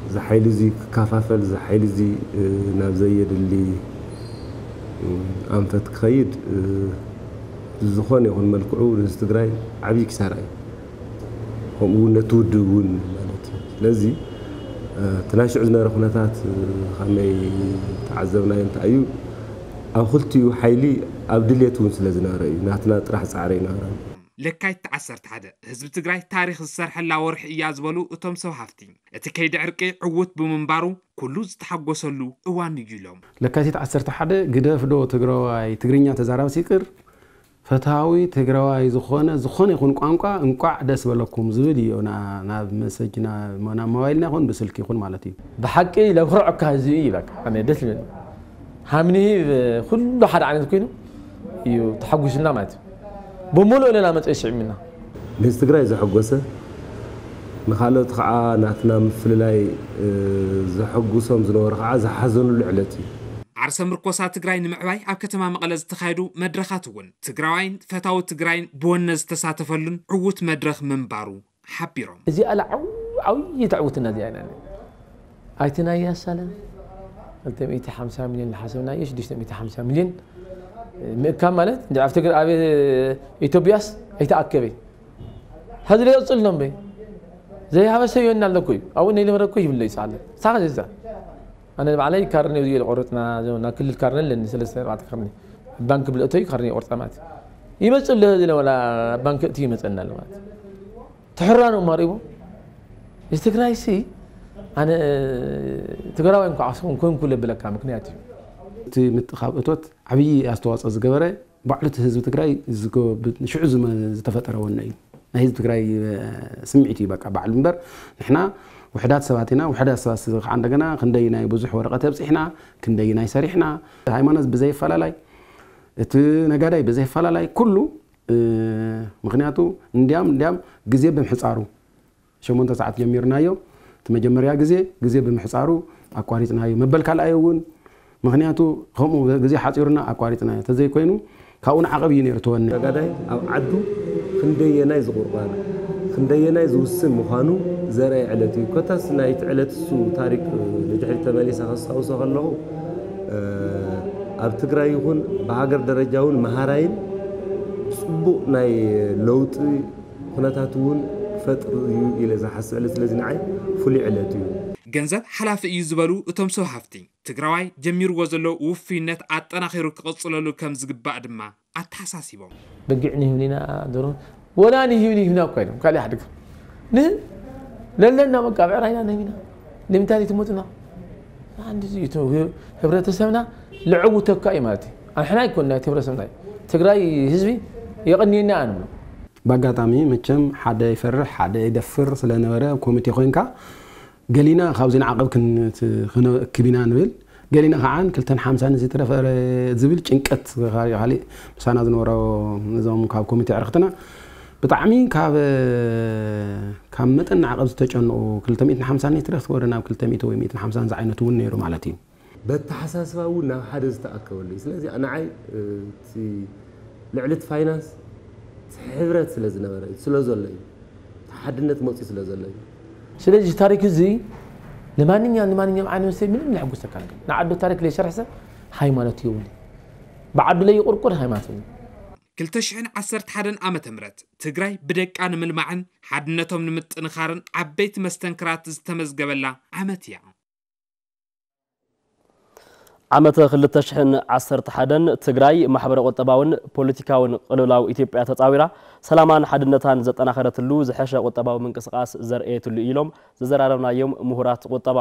እዚ ሓይሊ እዚ ክከፋፈል፣ እዚ ሓይሊ እዚ ናብ ዘየድሊ ኣንፈት ክኸይድ ብዝኾነ ይኹን መልክዑ ንህዝቢ ትግራይ ዓብዪ ኪሳራ እዩ። ከምኡ እውን ነቲ ውድብ እውን ማለት እዩ። ስለዚ እቲ ናይ ሽዑ ዝነበረ ኩነታት ከመይ ተዓዘብናዮ እንታይ እዩ? ኣብ ክልቲኡ ሓይሊ ኣብ ድሌት እውን ስለ ዝነበረ እዩ። ናትና ጥራሕ ፃዕሪ ኣይነበረን። ለካይት ዓሰርተ ሓደ ህዝቢ ትግራይ ታሪኽ ዝሰርሐላ ወርሒ እያ ዝበሉ እቶም ሰብ ሃፍቲ፣ እቲ ከይዲ ዕርቂ ዕዉት ብምንባሩ ኩሉ ዝተሓጎሰሉ እዋን እዩ ኢሎም። ለካቲት ዓሰርተ ሓደ ግደፍ ዶ ትግራዋይ ትግርኛ ተዛራብስ ይቅር፣ ፈታዊ ትግራዋይ ዝኾነ ዝኾነ ይኹን ቋንቋ እንቋዕ ደስ በለኩም ዝብል እዩ ናብ መሰጅና ናብ ሞባይልና ይኹን ብስልኪ ይኹን ማለት እዩ። ብሓቂ ለኩርዐካ ህዝቢ እዩ በቃ ኣነ ደስ ይብል ሃምኒ ኩሉ ሓደ ዓይነት ኮይኑ እዩ ተሓጒስና ማለት እዩ። ብምሉእ ሌላ መፀ ይስዕምና ንህዝቢ ትግራይ ዘሐጎሰ ንካልኦት ከዓ ናትና ምፍልላይ ዘሐጉሶም ዝነበሩ ከዓ ዝሓዘኑሉ ዕለት እዩ። ዓርሰ ምርኮሳ ትግራይ ንምዕባይ ኣብ ከተማ መቐለ ዝተኻየዱ መድረኻት እውን ትግራዋይን ፈታዊ ትግራይን ብወነ ዝተሳተፈሉን ዕዉት መድረኽ ምንባሩ ሓቢሮም። እዚኣ ላ ዓብይቲ ዕውትና እዚኣ ኢና ኣይትናያ ሳላ ክልተ ሚእቲ ሓምሳ ሚልዮን ዝሓሰብናዮ ሽዱሽተ ሚእቲ ሓምሳ ሚልዮን ምእካብ ማለት እንዲ ኣብ ትግራይ ኣብ ኢትዮጵያስ ኣይተኣከበ ሀዚ ላይ ቀጽል ነው በይ ዘይሃበሰ ይሆናል እኮ እዩ አሁን ይልመረ እኮ ይብለ ይጻለ ሳኸ ዘዛ ኣነ ባዕለይ ካርኔ እዩ ቆረጥና ዘውና ክልል ካርኔ ለኒ ሰለስተ ኣርባዕተ ካርኔ ባንክ ብልእቶይ ካርኔ ቆርጣ ማለት ይመጽእ ለዚ ለወላ ባንክ እቲ ይመጸና ማለት ትሕራኑ ማሪቡ እዚ ትግራይ ሲ ኣነ ትግራዋይ እንኳ ዓስኹም ኮንኩ ለብለካ ምክንያት እዩ እቲ ምጥኻብ እቶት ዓብዪ ኣስተዋፅኦ ዝገበረ ባዕሉ እቲ ህዝቢ ትግራይ ሽዑ ዝተፈጠረ ወነ እዩ ናይ ህዝቢ ትግራይ ስምዒት እዩ በቃ ባዕሉ እምበር ንሕና ውሕዳት ሰባት ኢና ውሕዳት ሰባት ከዓ እንደገና ክንደይ ናይ ብዙሕ ወረቀት ኣብፅሕና ክንደይ ናይ ሰሪሕና ሃይማኖት ብዘይፈላላይ እቲ ነጋዳይ ብዘይፈላላይ ኩሉ ምክንያቱ እንዲያም እንዲያም ግዜ ብምሕፃሩ ሸሞንተ ሰዓት ጀሚርናዮ እቲ መጀመርያ ግዜ ግዜ ብምሕፃሩ ኣቋሪፅናዮ መበል ካልኣይ እውን ምክንያቱ ከምኡ ግዜ ሓፂሩና ኣቋሪፅናዮ ተዘይኮይኑ ካብኡ ንዓቐብ እዩ ነይሩ ተወኒ። ነጋዳይ ኣብ ዓዱ ክንደየናይ ዝቑርባን ክንደየናይ ዝውስን ምዃኑ ዘርኣየ ዕለት እዩ። ኮታስ ናይቲ ዕለት እሱ ታሪክ ንድሕሪት ተመሊሰ ከስታውሶ ከለኹ ኣብ ትግራይ ይኹን ብሃገር ደረጃ እውን መሃራይን ፅቡቕ ናይ ለውጢ ኩነታት እውን ክፈጥር እዩ ኢለ ዝሓስብ ዕለት ስለዚ ንዓይ ፍሉይ ዕለት እዩ። ገንዘብ ሓላፊ እዩ ዝበሉ እቶም ሰብ ሃፍቲ፣ ትግራዋይ ጀሚርዎ ዘሎ ውፉይነት ኣጠናኺሩ ክቕፅለሉ ከም ዝግባእ ድማ ኣተሓሳሲቦም። በጊዕ ንህብን ኢና ዶሮ ወላ ንህብን ይህብና እኳ ኢሎም ካልእ ሓደጋ ንህብ ለለና በቃ ብዕራይና ንህብ ኢና ንምንታይ ትመፁና? ህብረተሰብና ልዕውተካ እዩ ማለት እዩ። ኣንሕና ኣይኮንና እቲ ህብረተሰብና እዩ። ትግራይ ህዝቢ የቐንየና ኣንብሎ። ብኣጋጣሚ መቸም ሓደ ይፈርሕ ሓደ ይደፍር ስለነበረ ኮሚቴ ኮይንካ ገሊና ካብዚ ንዓቐብ ክንክብ ኢና ንብል ገሊና ከዓ ክልተን ሓምሳን ዝትረፈ ዝብል ጭንቀት ካሊእ ምሳና ዝነበሮ እዞም ካብ ኮሚቴ ዕርክትና ብጣዕሚ ካብ ካብ መጠን ንዓቐብ ዝተጨንቑ ክልተ ሚእትን ሓምሳን ሊትረ ክትወርድ ናብ ክልተ ሚእቲ ወይ ሚእትን ሓምሳን ዝዓይነቱ እውን ነይሩ ማለት እዩ። በተሓሳስባ እውን ናብ ሓደ ዝተኣከበሉ እዩ። ስለዚ ንዓይ እቲ ልዕሊ እቲ ፋይናንስ እቲ ሕብረት ስለ ዝነበረ እዩ፣ ስለ ዘሎ እዩ፣ እቲ ሓድነት መፅኡ ስለ ዘሎ እዩ። ስለዚ እዚ ታሪክ እዚ ንማንኛውም ንማንኛውም ዓይነት ሰብ ምንም ዘሐጉሰካ ነገር ንዓዱ ታሪክ ዘይሰርሐ ሰብ ሃይማኖት የብሉ። ብዓዱ ለይቁርቁር ሃይማኖት የብሉ። ክልተ ሽሕን ዓሰርተ ሓደን ዓመተ ምህረት ትግራይ ብደቃ ንምልማዕን ሓድነቶም ንምጥንኻርን ዓበይቲ መስተንክራት ዝተመዝገበላ ዓመት እያ። ዓመተ ክልተ ሽሕን ዓሰርተ ሓደን ትግራይ ማሕበረ ቁጠባውን ፖለቲካውን ቅልውላው ኢትዮጵያ ተፃዊራ ሰላማን ሓድነታን ዘጠናኸረትሉ ዝሐሸ ቁጠባዊ ምንቅስቃስ ዘርእየትሉ ኢሎም ዘዘራረብናዮም ምሁራት ቁጠባ።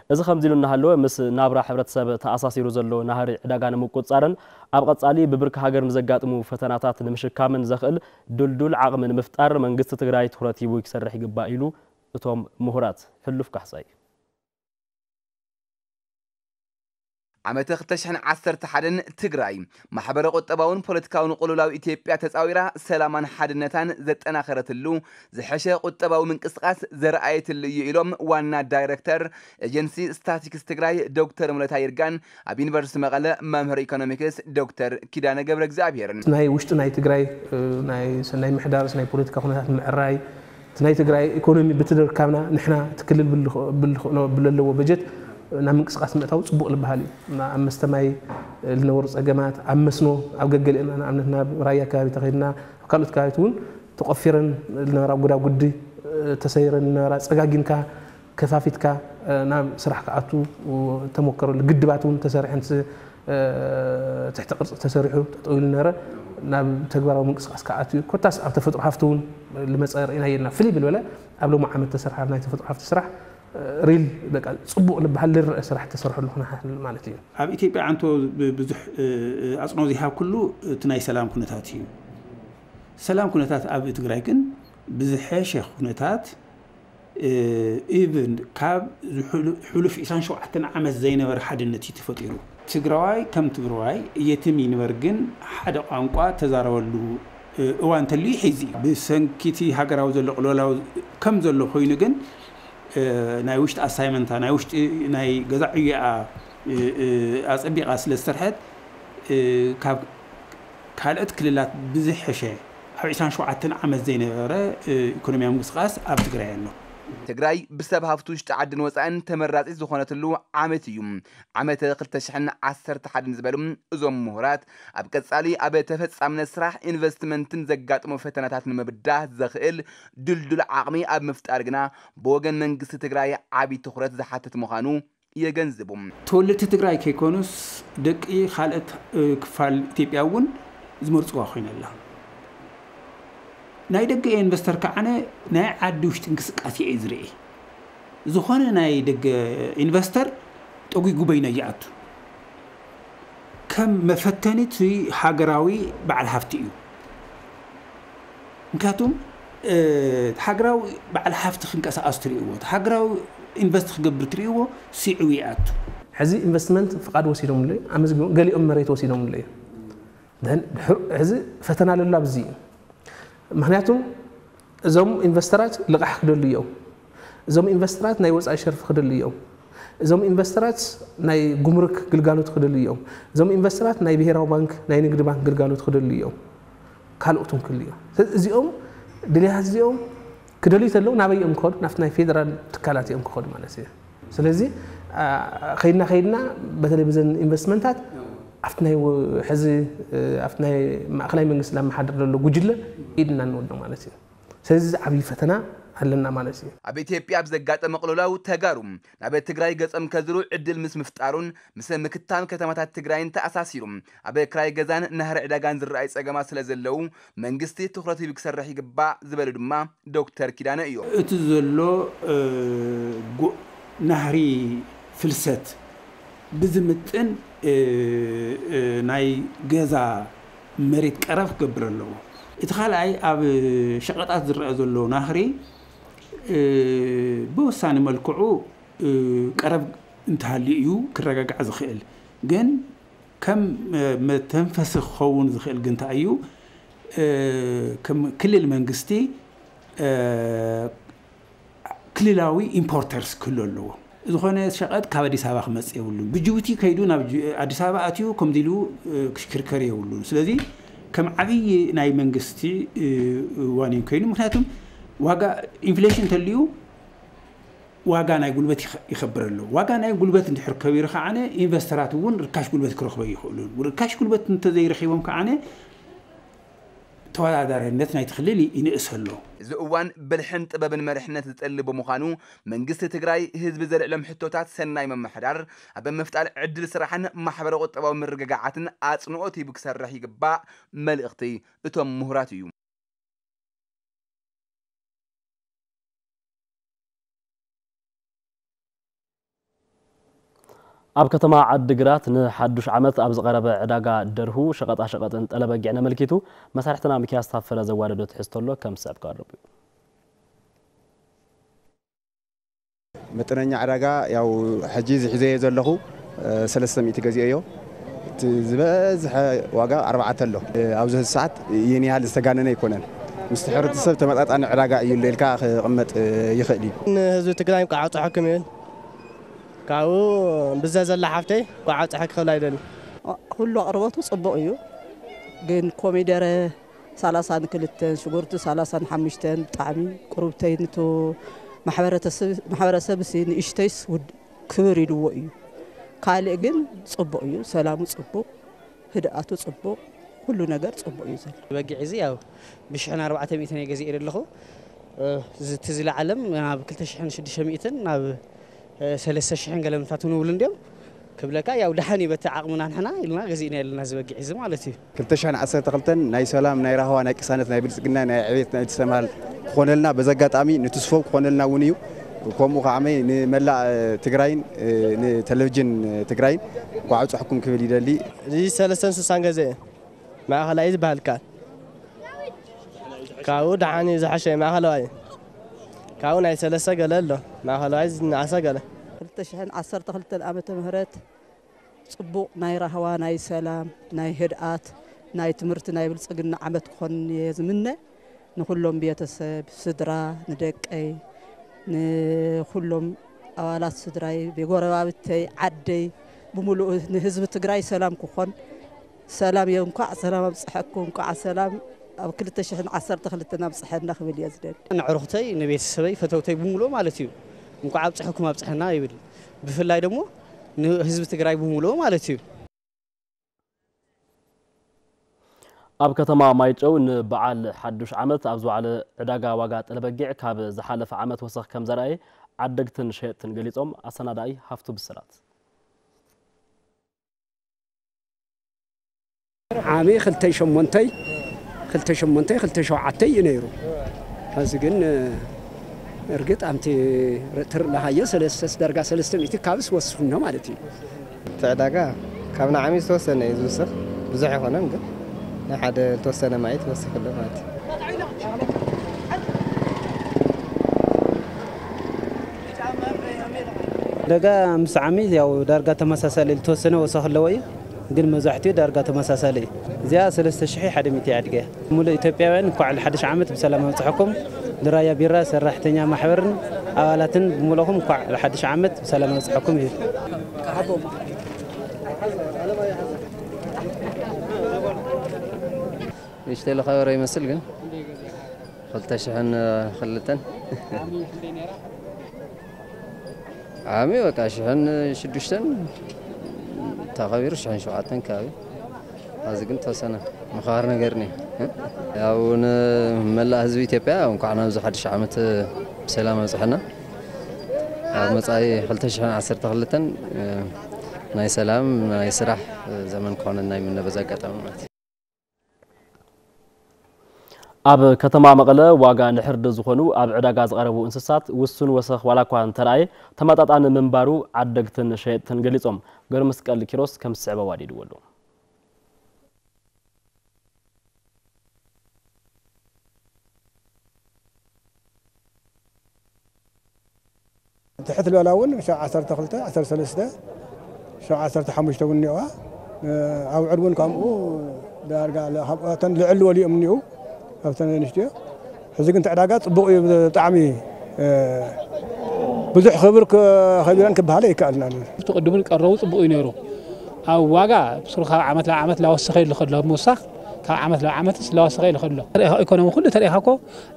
እዚ ከምዚ ኢሉ እናሃለወ ምስ ናብራ ሕብረተሰብ ተኣሳሲሩ ዘሎ ናህሪ ዕዳጋ ንምቁፅፃርን ኣብ ቀፃሊ ብብርኪ ሃገር ንዘጋጥሙ ፈተናታት ንምሽካምን ዘኽእል ድልዱል ዓቕሚ ንምፍጣር መንግስቲ ትግራይ ትኹረት ሂቡ ክሰርሕ ይግባእ ኢሉ እቶም ምሁራት። ሕሉፍ ካሕሳይ። ዓመተ ክልተ ሽሕን ዓሰርተ ሓደን ትግራይ ማሕበረ ቁጠባውን ፖለቲካውን ቅሉላው ኢትዮጵያ ተፃዊራ ሰላማን ሓድነታን ዘጠናኸረትሉ ዝሐሸ ቁጠባዊ ምንቅስቃስ ዘርኣየትሉ እዩ ኢሎም ዋና ዳይሬክተር ኤጀንሲ ስታቲክስ ትግራይ ዶክተር ሙለታ ይርጋን ኣብ ዩኒቨርሲቲ መቐለ መምህር ኢኮኖሚክስ ዶክተር ኪዳነ ገብረ እግዚኣብሄርን። ናይ ውሽጢ ናይ ትግራይ ናይ ሰናይ ምሕዳርስ ናይ ፖለቲካ ኩነታት ምዕራይ እቲ ናይ ትግራይ ኢኮኖሚ ብትደርካብና ንሕና እቲ ክልል ብልኽ- ብልኽእሎ- ብለለዎ በጀት ናብ ምንቅስቃስ ምእታው ጽቡቕ ዝበሃል እዩ። እና ኣብ መስተ ማይ ዝነበሩ ጸገማት፣ ኣብ መስኖ፣ ኣብ ገገሊአን ንኣብነት ናብ ራያ ከባቢ ተኸይድና፣ ኣብ ካልኦት ከባቢት እውን ተቆፊረን ዝነበራ ጉዳጉዲ፣ ተሰይረን ዝነበራ ጸጋጊንካ፣ ከፋፊትካ ናብ ስራሕ ክኣቱ ተሞከረሉ። ግድባት እውን ተሰሪሐን ትሕቲ ቅርፂ ተሰሪሑ ጠጠው ኢሉ ነበረ። ናብ ተግባራዊ ምንቅስቃስ ክኣቱ እዩ። ኮታስ ኣብ ተፈጥሮ ሃፍቲ እውን ልመፀ ርኢና የልና። ፍልይ ብልበለ ኣብ ሎም ዓመት ተሰርሓ ናይ ተፈጥሮ ሃፍቲ ስራሕ ሪል በቃ ፅቡቅ ልበሃል ልረአ ስራሕ ተሰርሐሉ ክነሓል ማለት እዩ። ኣብ ኢትዮጵያ ዓንቶ ብዙሕ ኣፅኖ ዘይሃብኩሉ እቲ ናይ ሰላም ኩነታት እዩ። ሰላም ኩነታት ኣብ ትግራይ ግን ብዝሐሸ ኩነታት ኢቭን ካብ ሕሉፍ ዒስራን ሸውዓተን ዓመት ዘይነበረ ሓድነት እዩ ተፈጢሩ። ትግራዋይ ከም ትግራዋይ የትም ይንበር ግን ሓደ ቋንቋ ተዛረበሉ እዋን እንተልዩ ሕዚ እዩ። ብሰንኪቲ ሃገራዊ ዘሎ ቅልውላው ከም ዘሎ ኮይኑ ግን ናይ ውሽጢ ኣሳይመንታ ናይ ውሽጢ ናይ ገዛ ዕዮኣ ኣፀቢቓ ስለ ዝሰርሐት ካብ ካልኦት ክልላት ብዝሐሸ ኣብ ዒስራን ሸውዓተን ዓመት ዘይነበረ ኢኮኖሚያዊ ምንቅስቃስ ኣብ ትግራይ ኣሎ። ትግራይ ብሰብ ሃፍቲ ውሽጢ ዓድን ወፃእን ተመራፂት ዝኾነትሉ ዓመት እዩ። ዓመተ ክልተ ሽሕን ዓሰርተ ሓደን ዝበሉ እዞም ምሁራት ኣብ ቀፃሊ ኣብ ተፈፃምነት ስራሕ ኢንቨስትመንትን ዘጋጥሞ ፈተናታት ንምብዳህ ዘኽእል ድልዱል ዓቕሚ ኣብ ምፍጣር ግና ብወገን መንግስቲ ትግራይ ዓብዪ ትኹረት ዝሓትት ምዃኑ የገንዝቡ። ተወለድቲ ትግራይ ከይኮኑስ ደቂ ካልኦት ክፋል ኢትዮጵያ እውን ዝመርፅዋ ኮይና ኣላ። ናይ ደገ ኢንቨስተር ከዓነ ናይ ዓዲ ውሽጢ እንቅስቃሴ እየ ዝርኢ። ዝኾነ ናይ ደገ ኢንቨስተር ጠጒጉ በይነ ይኣቱ። ከም መፈተኒ እቲ ሃገራዊ በዓል ሃፍቲ እዩ። ምክንያቱም ሃገራዊ በዓል ሃፍቲ ክንቀሳቀስ ትርእይዎ፣ ሃገራዊ ኢንቨስት ክገብር ትርእይዎ፣ ስዒቡ ይኣቱ። ሕዚ ኢንቨስትመንት ፍቃድ ወሲዶምሉ ኣመዝጊቦም፣ ገሊኦም መሬት ወሲዶምሉ እዩ። ሕዚ ፈተና ለሎ ኣብዚ እዩ። ምክንያቱም እዞም ኢንቨስተራት ልቃሕ ክደሉ እዮም። እዞም ኢንቨስተራት ናይ ወፃኢ ሸርፊ ክደሉ እዮም። እዞም ኢንቨስተራት ናይ ጉምሩክ ግልጋሎት ክደሉ እዮም። እዞም ኢንቨስተራት ናይ ብሄራዊ ባንክ ናይ ንግዲ ባንክ ግልጋሎት ክደሉ እዮም። ካልኦት እውን ክህሉ እዮም። ስለዚ እዚኦም ድልያት እዚኦም ክደልዩ ተለዉ ናበይ እዮም ክኸዱ? ናብቲ ናይ ፌደራል ትካላት እዮም ክኸዱ ማለት እዩ። ስለዚ ከይድና ከይድና በተለይ ብዘን ኢንቨስትመንታት ኣብቲ ናይ ሕዚ ኣብቲ ናይ ማእኸላይ መንግስቲ ላመሓድር ዘሎ ጉጅለ ኢድና ንወዶ ማለት እዩ። ስለዚ ዓብዪ ፈተና ኣለና ማለት እዩ። ኣብ ኢትዮጵያ ኣብ ዘጋጠመ ቅልውላው ተጋሩ ናብ ትግራይ ገጾም ከዝሩ ዕድል ምስ ምፍጣሩን ምስ ምክታም ከተማታት ትግራይን ተኣሳሲሩ ኣብ ክራይ ገዛን ናህሪ ዕዳጋን ዝረኣዩ ጸገማት ስለ ዘለዉ መንግስቲ ትኹረት ሂቡ ክሰርሕ ይግባእ ዝበሉ ድማ ዶክተር ኪዳነ እዮም። እቲ ዘሎ ናህሪ ፍልሰት ብዝምጥን ናይ ገዛ መሬት ቀረብ ክገብር ኣለዎ። እቲ ካልኣይ ኣብ ሸቐጣት ዝረአ ዘሎ ናህሪ ብወሳኒ መልክዑ ቀረብ እንተሃልዩ እዩ ክረጋጋዕ ዝኽእል። ግን ከም መተንፈሲ ክኸውን ዝኽእል ግን እንታይ እዩ? ከም ክልል መንግስቲ ክልላዊ ኢምፖርተርስ ክህሉ ኣለዎ። ዝኾነ ሸቐጥ ካብ ኣዲስ ኣበባ ክመፅእ የብሉን። ብጅቡቲ ከይዱ ናብ ኣዲስ ኣበባ ኣትዩ ከምዚ ኢሉ ክሽክርከር የብሉን። ስለዚ ከም ዓብዪ ናይ መንግስቲ ዋኒን ኮይኑ፣ ምክንያቱም ዋጋ ኢንፍሌሽን እንተልዩ ዋጋ ናይ ጉልበት ይኸብር ኣሎ። ዋጋ ናይ ጉልበት እንድሕር ከቢሩ ከዓነ ኢንቨስተራት እውን ርካሽ ጉልበት ክረኽበ ይኽእሉን። ርካሽ ጉልበት እንተዘይረኺቦም ከዓነ ተወዳዳሪነት ናይቲ ክልል ይንእስ ኣሎ። እዚ እዋን ብልሕን ጥበብን መሪሕነት ዝጠሊ ብምዃኑ መንግስቲ ትግራይ ህዝቢ ዘልዕሎም ሕቶታት ሰናይ ምምሕዳር ኣብ ምፍጣር ዕድል ስራሕን ማሕበረ ቁጠባዊ ምርግጋዓትን ኣፅንኦት ሂቡ ክሰርሕ ይግባእ መልእኽቲ እቶም ምሁራት እዩ። ኣብ ከተማ ዓዲግራት ንሓዱሽ ዓመት ኣብ ዝቐረበ ዕዳጋ ደርሁ፣ ሸቐጣሸቐጥን ጠለበጊዕን ኣመልኪቱ መሳርሕትና ሚኪያስ ታፈረ ዘዋደዶ ትሕዝቶ ኣሎ፣ ከም ዝስዕብ ቀርብ እዩ። መጠነኛ ዕዳጋ ያው ሕጂ እዚ ሒዘዮ ዘለኹ ሰለስተ ሚእቲ ገዚኦዮ። እቲ ዝበዝሐ ዋጋ ኣርባዕተ ኣሎ። ኣብዚ ሰዓት ይህን ያህል ዝተጋነነ ኣይኮነን። ምስቲ ሕብረተሰብ ተመጣጣኒ ዕዳጋ እዩ ኣሎ ኢልካ ክቕመጥ ይኽእል እዩ። ንህዝቢ ትግራይ እንኳዕ ኣብፀሐኩም ይብል። ካብኡ ብዘ ዘላ ሓፍተይ እንኳዕ ኣብፀሐኪ ክብል ኣይደልን። ኩሉ ኣቕርቦቱ ፅቡቕ እዩ፣ ግን ኮሚደረ፣ ሰላሳን ክልተን ሽጉርቲ ሰላሳን ሓሙሽተን ብጣዕሚ ቁሩብተይ ንቱ ማሕበረተሰብ ማሕበረሰብ ሲ ንእሽተይስ ውድ ክብር ኢልዎ እዩ። ካልእ ግን ጽቡቕ እዩ። ሰላሙ ጽቡቕ፣ ህድኣቱ ጽቡቕ፣ ኩሉ ነገር ጽቡቕ እዩ ዘሎ። በጊዕ እዚ ያው ብሽሕን ኣርባዕተ ሚእትን እየ ገዚኤ ዘለኹ። እ፣ እዚ እቲ ዝለዓለም ናብ ክልተ ሽሕን ሽዱሽተ ሚእትን ናብ፣ እ፣ ሰለስተ ሽሕን ገለ ምታቱ ንብሉ እንዲዮም። ክብለካ ያው ደሓን እዩ በቲ ዓቕምና ንሕና ኢልና ገዚእና ኣለና ዝበጊዕ እዚ ማለት እዩ። ክልተ ሽሕን ዓሰርተ ክልተን ናይ ሰላም፣ ናይ ራህዋ፣ ናይ ቅሳነት፣ ናይ ብልጽግና፣ ናይ ዕቤት፣ ናይ ትሰማል ክኾነልና በዚ ኣጋጣሚ ንትስፎ ክኾነልና እውን እዩ። ከምኡ ከዓመይ ንመላእ፣ እ፣ ትግራይን፣ እ፣ ንቴሌቪዥን፣ እ፣ ትግራይን እንኳዕ ኣብፀሐኩም ክብል ይደሊ። እዚ ሰለስተን ስሳን ገዘ ማእኸላይ ዝበሃል ካል ካብኡ ደሓን እዩ ዝሓሸ ማእኸለዋይ ካብኡ ናይ ሰለስተ ገለ ኣሎ ማእኸለዋይ ዝነኣሰ ገለ ክልተ ሽሕን ዓሰርተ ክልተን ዓመተ ምህረት ጽቡቕ ናይ ራህዋ፣ ናይ ሰላም፣ ናይ ህድኣት፣ ናይ ትምህርቲ፣ ናይ ብልጽግና ዓመት ክኾን እየ ዝምነ። ንኹሎም ቤተሰብ፣ ስድራ፣ ንደቀይ፣ ንኹሎም ኣባላት ስድራይ፣ ጎረባብተይ፣ ዓደይ፣ ብምሉኡ ንህዝቢ ትግራይ ሰላም ክኾን፣ ሰላም እየ። እንኳዕ ሰላም ኣብፅሐኩም፣ እንኳዕ ሰላም ኣብ ክልተ ሽሕን ዓሰርተ ክልተን ኣብፅሐና ክብል እየ ዝደሊ። ንዕሩኽተይ፣ ንቤተሰበይ፣ ፈተውተይ ብምሉኡ ማለት እዩ። እንኳዕ ኣብፅሐኩም ኣብፅሐና ይብል። ብፍላይ ደግሞ ንህዝቢ ትግራይ ብምሉኡ ማለት እዩ። ኣብ ከተማ ማይጨው ንበዓል ሓዱሽ ዓመት ኣብ ዝወዓለ ዕዳጋ ዋጋ ጠለበጊዕ ካብ ዝሓለፈ ዓመት ወሰኽ ከም ዘርኣየ ዓደግትን ሸየጥትን ገሊጾም። ኣሰናዳኢ ሃፍቱ ብስራት። ዓሚ ክልተ ሸሞንተይ፣ ክልተ ሸሞንተይ፣ ክልተ ሸውዓተይ እዩ ነይሩ። ሕዚ ግን፣ እርግጥ ኣምቲ ትርኢናሃዮ ሰለስተ፣ ዳርጋ ሰለስተ ሚእቲ ካብስ ወሲኹ እኒሆ ማለት እዩ። እቲ ዕዳጋ ካብ ንዓሚ ዝተወሰነ እዩ ዝውስኽ፣ ብዙሕ ኣይኮነን ግን ናይ ሓደ ዝተወሰነ ማይ ትወስኽ ኣሎ ማለት እዩ። ዕዳጋ ምስ ዓሚ ያው ዳርጋ ተመሳሳሊ፣ ዝተወሰነ ወሰኽ ኣለዎ እዩ። ግን መብዛሕትኡ ዳርጋ ተመሳሳሊ እዩ። እዚኣ ሰለስተ ሽሕ ሓደ ሚእቲ እያ ኣድገ። ሙሉእ ኢትዮጵያውያን እንኳዕ ለሓድሽ ዓመት ብሰላም ኣብፅሐኩም። ንራያ ቢራ ሰራሕተኛ ማሕበርን ኣባላትን ብምልኦም እንኳዕ ለሓድሽ ዓመት ብሰላም ኣብፅሐኩም ይብል። ንእሽተይ ለኸበረ ይመስል ግን ክልተ ሽሕን ክልተን ዓሚ በቃ ሽሕን ሽዱሽተን ተኸቢሩ ሽሕን ሸውዓተን ከባቢ። ኣብዚ ግን ተወሰነ ምኽባር ነገር እኒኦ። ያው ንመላእ ህዝቢ ኢትዮጵያ እንኳዕ ናብዚ ሓድሽ ዓመት ብሰላም ኣብፅሐና። ኣብ መጻኢ ክልተ ሽሕን ዓሰርተ ክልተን ናይ ሰላም ናይ ስራሕ ዘመን ክኾነና ይምነ በዚ ኣጋጣሚ ማለት እዩ። ኣብ ከተማ መቐለ ዋጋ ንሕርዲ ዝኾኑ ኣብ ዕዳጋ ዝቐረቡ እንስሳት ውሱን ወሰኽ ዋላ እኳ እንተረኣየ ተመጣጣኒ ምንባሩ ዓደግትን ሸየጥትን ገሊጾም። ገብረመስቀል ኪሮስ ከም ዝስዕብ ኣዋዲድዎ ኣሎ። ትሕት ዝበላ እውን ሸው ዓሰርተ ክልተ፣ ዓሰርተ ሰለስተ፣ ሸው ዓሰርተ ሓሙሽተ እውን እኒኦዋ። ኣውዕር እውን ከምኡ ዳርጋ ለ-፣ ካብ እተን ልዕል ዝበሉ እዮም እኒኡ፣ ካብተን ንእሽትዮ። ሕዚ ግን እቲ ዕዳጋ ጽቡቕ እዩ፣ ብጣዕሚ፣ እ፣ ብዙሕ ክብር ከ-፣ ከቢረን ክበሃለ ይከኣልና። እቲ ቅድሙን ቀረቡ ጽቡቕ እዩ ነይሩ። ኣብ ዋጋ ብስሩ ካብ ዓመት ናብ ዓመት ላወሰኸ ይሉ ከሎ፣ ምውሳኽ ካብ ዓመት ናብ ዓመትስ ላወሰኸ ይሉ ከሎ። ኢኮኖሚ ኩሉ ተሪኢኻ እኮ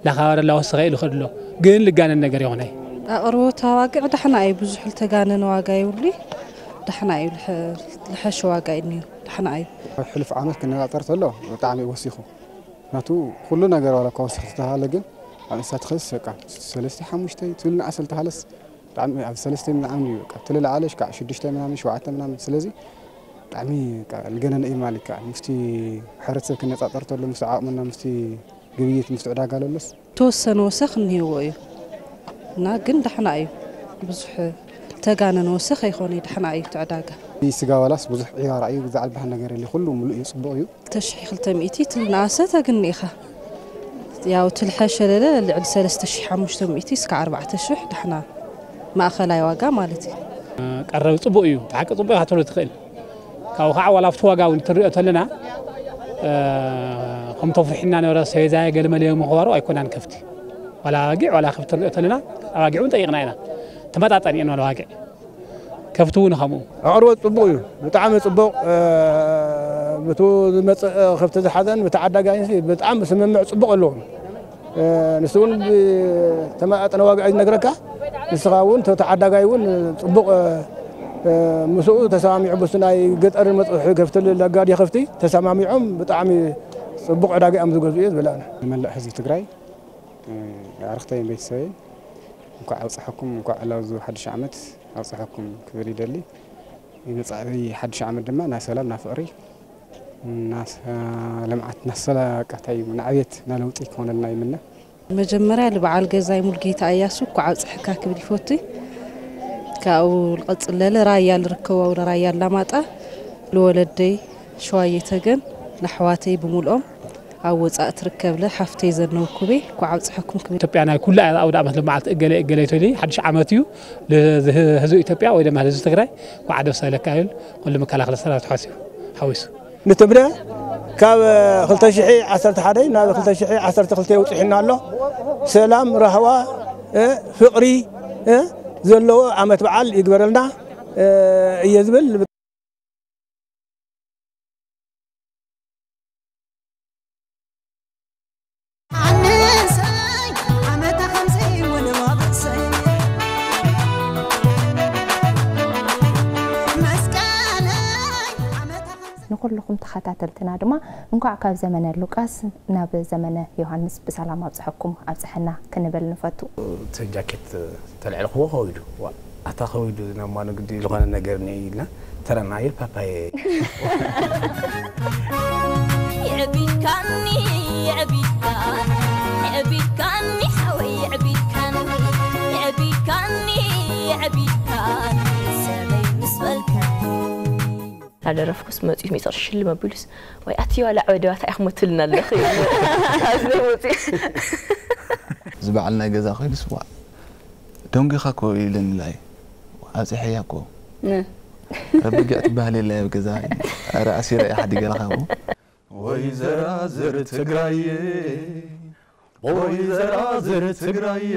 ላኻባረ ላወሰኸ ኢሉ ከሎ ግን ልጋነን ነገር ይኾነ። ኣቕርቦት ዋግዕ ዳሕና እዩ፣ ብዙሕ ልተጋነነ ዋጋ ይብሉ። ዳሕና እዩ፣ ልሐ-፣ ልሐሸ ዋጋ እዩ እኒኦ፣ ዳሕና እዩ። ሕሉፍ ዓመት ክነጻጸር ተሎ ብጣዕሚ እዩ ወሲኹ። ናቱ ኩሉ ነገር ዋላ እኳ ወሲኹ ተተሃለ ግን ኣብ እንስሳት ኸስ በቃ ሰለስተ ሓሙሽተ ትብል ንኣሰል ተሃለስ ብጣዕሚ ኣብ ሰለስተ ምናምን እዩ በቃ። ትልልዓለሽ ከዓ ሽዱሽተ ምናምን ሸውዓተ ምናምን። ስለዚ ብጣዕሚ በቃ ልገነነ እዩ ማለት ይከኣል። ምስቲ ሕብረተሰብ ክነጻጸር ተሎ ምስቲ ዓቕምና ምስቲ ግብይት ምስቲ ዕዳጋ ለሎስ ተወሰነ ወሰኽ እኒሄዎ እዩ እና ግን ዳሕና እዩ። ብዙሕ ተጋነን ወሰኽ ኣይኾነ፣ ዳሕና እዩ እቲ ዕዳጋ። ስጋ ዋላስ ብዙሕ ዕያራ እዩ፣ ብዛዕባ ዝበሃል ነገር የለ፣ ኩሉ ሙሉእ እዩ፣ ጽቡቕ እዩ። ክልተ ሽሕ ክልተ ሚእቲ ትልናኣሰ ተግኒ ኢኻ። ያው ትልሐ ሸለለ ልዕሊ ሰለስተ ሽሕ ሓሙሽተ ሚእቲ እስከ ኣርባዕተ ሽሕ ዳሕና ማእኸላይ ዋጋ ማለት እዩ። ቀረብ ጽቡቕ እዩ፣ ብሓቂ ጽቡቕ ኢኻ ትብሎ ትኽእል። ካብኡ ከዓ ዋላ ኣብቲ ዋጋ እውን ትሪኦ ተለና፣ እ፣ ከምቶም ፍርሒና ነበረ ሰበይዛየ ገለመለ ምኽባሩ ኣይኮናን ከፍቲ። ዋላ ኣባጊዕ ዋላ ከፍቲ ትሪኦ ተለና፣ ኣባጊዕ እውን ጠይቕና ኢና። ተመጣጣኒ እየን ዋላ ኣባጊዕ። ከፍቲ እውን ከምኡ። ኣቕርቦት ጽቡቕ እዩ፣ ብጣዕሚ ጽቡቕ፣ እ፣ ብቱ ዝመጽእ ከብቲ ዝሓዘን ብቲ ዓዳጋይን ብጣዕሚ ስምምዕ ጽቡቕ ኣለዎም። ንሱ እውን ብተመጣጠነ ዋጋ እዩ ዝነግረካ። ንስኻ እውን ተተዓዳጋይ እውን ጽቡቕ ምስኡ ተሰማሚዑ፣ ብሱ ናይ ገጠር መጽእ ከፍቲ፣ ለጋዲ ከፍቲ ተሰማሚዖም ብጣዕሚ ጽቡቕ ዕዳጋ እዮም ዝገዝኡ እየ ዝብል ኣነ። ንመላእ ህዝቢ ትግራይ ኣርክተይን ቤተሰበይን እንኳዕ ኣብፀሐኩም፣ እንኳዕ ዕላዊ ሓድሽ ዓመት ኣብፀሐኩም ክብል ይደሊ። ንመጻኢ ሓድሽ ዓመት ድማ ናይ ሰላም፣ ናይ ፍቕሪ፣ ናይ ልምዓት፣ ናይ ሰላም፣ ቀታይ ንዕቤት፣ ናይ ለውጢ ክኾነልና ይምነ። መጀመርያ ንበዓል ገዛይ ሙልጌታ እያሱ እንኳዕ ኣብፀሐካ ክብል ይፈቱ። ካብኡ ልቐፅል ለለ ራያ ልርከቦ፣ ንራያ ኣላማጣ፣ ልወለደይ ሸዋየ ተገን፣ ንኣሕዋተይ ብምልኦም ኣብ ወፃእ ትርከብለ ሓፍተይ ዘነው ኩቤ እንኳዕ ኣብፀሐኩም ክብል። ኢትዮጵያ ናይ ኩላ ኣውደ ዓመት ልምዓት እገለ እገለ ይቶኒ ሓድሽ ዓመት እዩ። ለህዝቢ ኢትዮጵያ ወይ ድማ ህዝቢ ትግራይ እንኳዕ ደስ ኣለካ ይብል ኩሉ መከላኸሊ ሰራዊት ሓሲቡ ሓዊሱ። ንትብለ ካብ ክልተ ሽሕ ዓሰርተ ሓደ ናብ ክልተ ሽሕ ዓሰርተ ክልተ ውፅሒና ኣሎ። ሰላም፣ ራህዋ፣ ፍቕሪ ዘለዎ ዓመት በዓል ይግበረልና እየ ዝብል። ንኹልኹም ተኸታተልትና ድማ እንኳዕ ካብ ዘመነ ሉቃስ ናብ ዘመነ ዮሃንስ ብሰላም ኣብፀሐኩም ኣብፀሐና ክንብል ንፈቱ። እቲ ጃኬት ተልዕልኽዎ ከዊዱ። ዋ፣ ኣታ ከዊዱ ናብ ማኑ ግዲ ዝኾነ ነገር እኒኦ ኢልና ተረና ኢል ፓፓየ። የዕቢድካኒ የዕቢድካኒ የዕቢድካኒ ሓወይ የዕቢድካኒ የዕቢድካኒ የዕቢድካኒ ሰበይ ምስ በልካኒ። እናደረፍኩስ መፂኡ ሚፀር ሽልም ኣቢሉስ ዋይ ኣቲ ዋላ ዕበደባታ ኢኹም ትልና ኣለኺ። ኣብዚ መፂኡ እዚ በዓል ናይ ገዛ ኮይኑስ ዋ ደንጒኻ እኮ ኢለኒ ላይ ኣብፅሐያ እኮ ረቢጊዕ ትበሃል የለ ኣብ ገዛ ኧረ ኣሲረ እየ ሓዲገ ለኻኹ። ወይዘራዝር ትግራየ ወይዘራዝር ትግራየ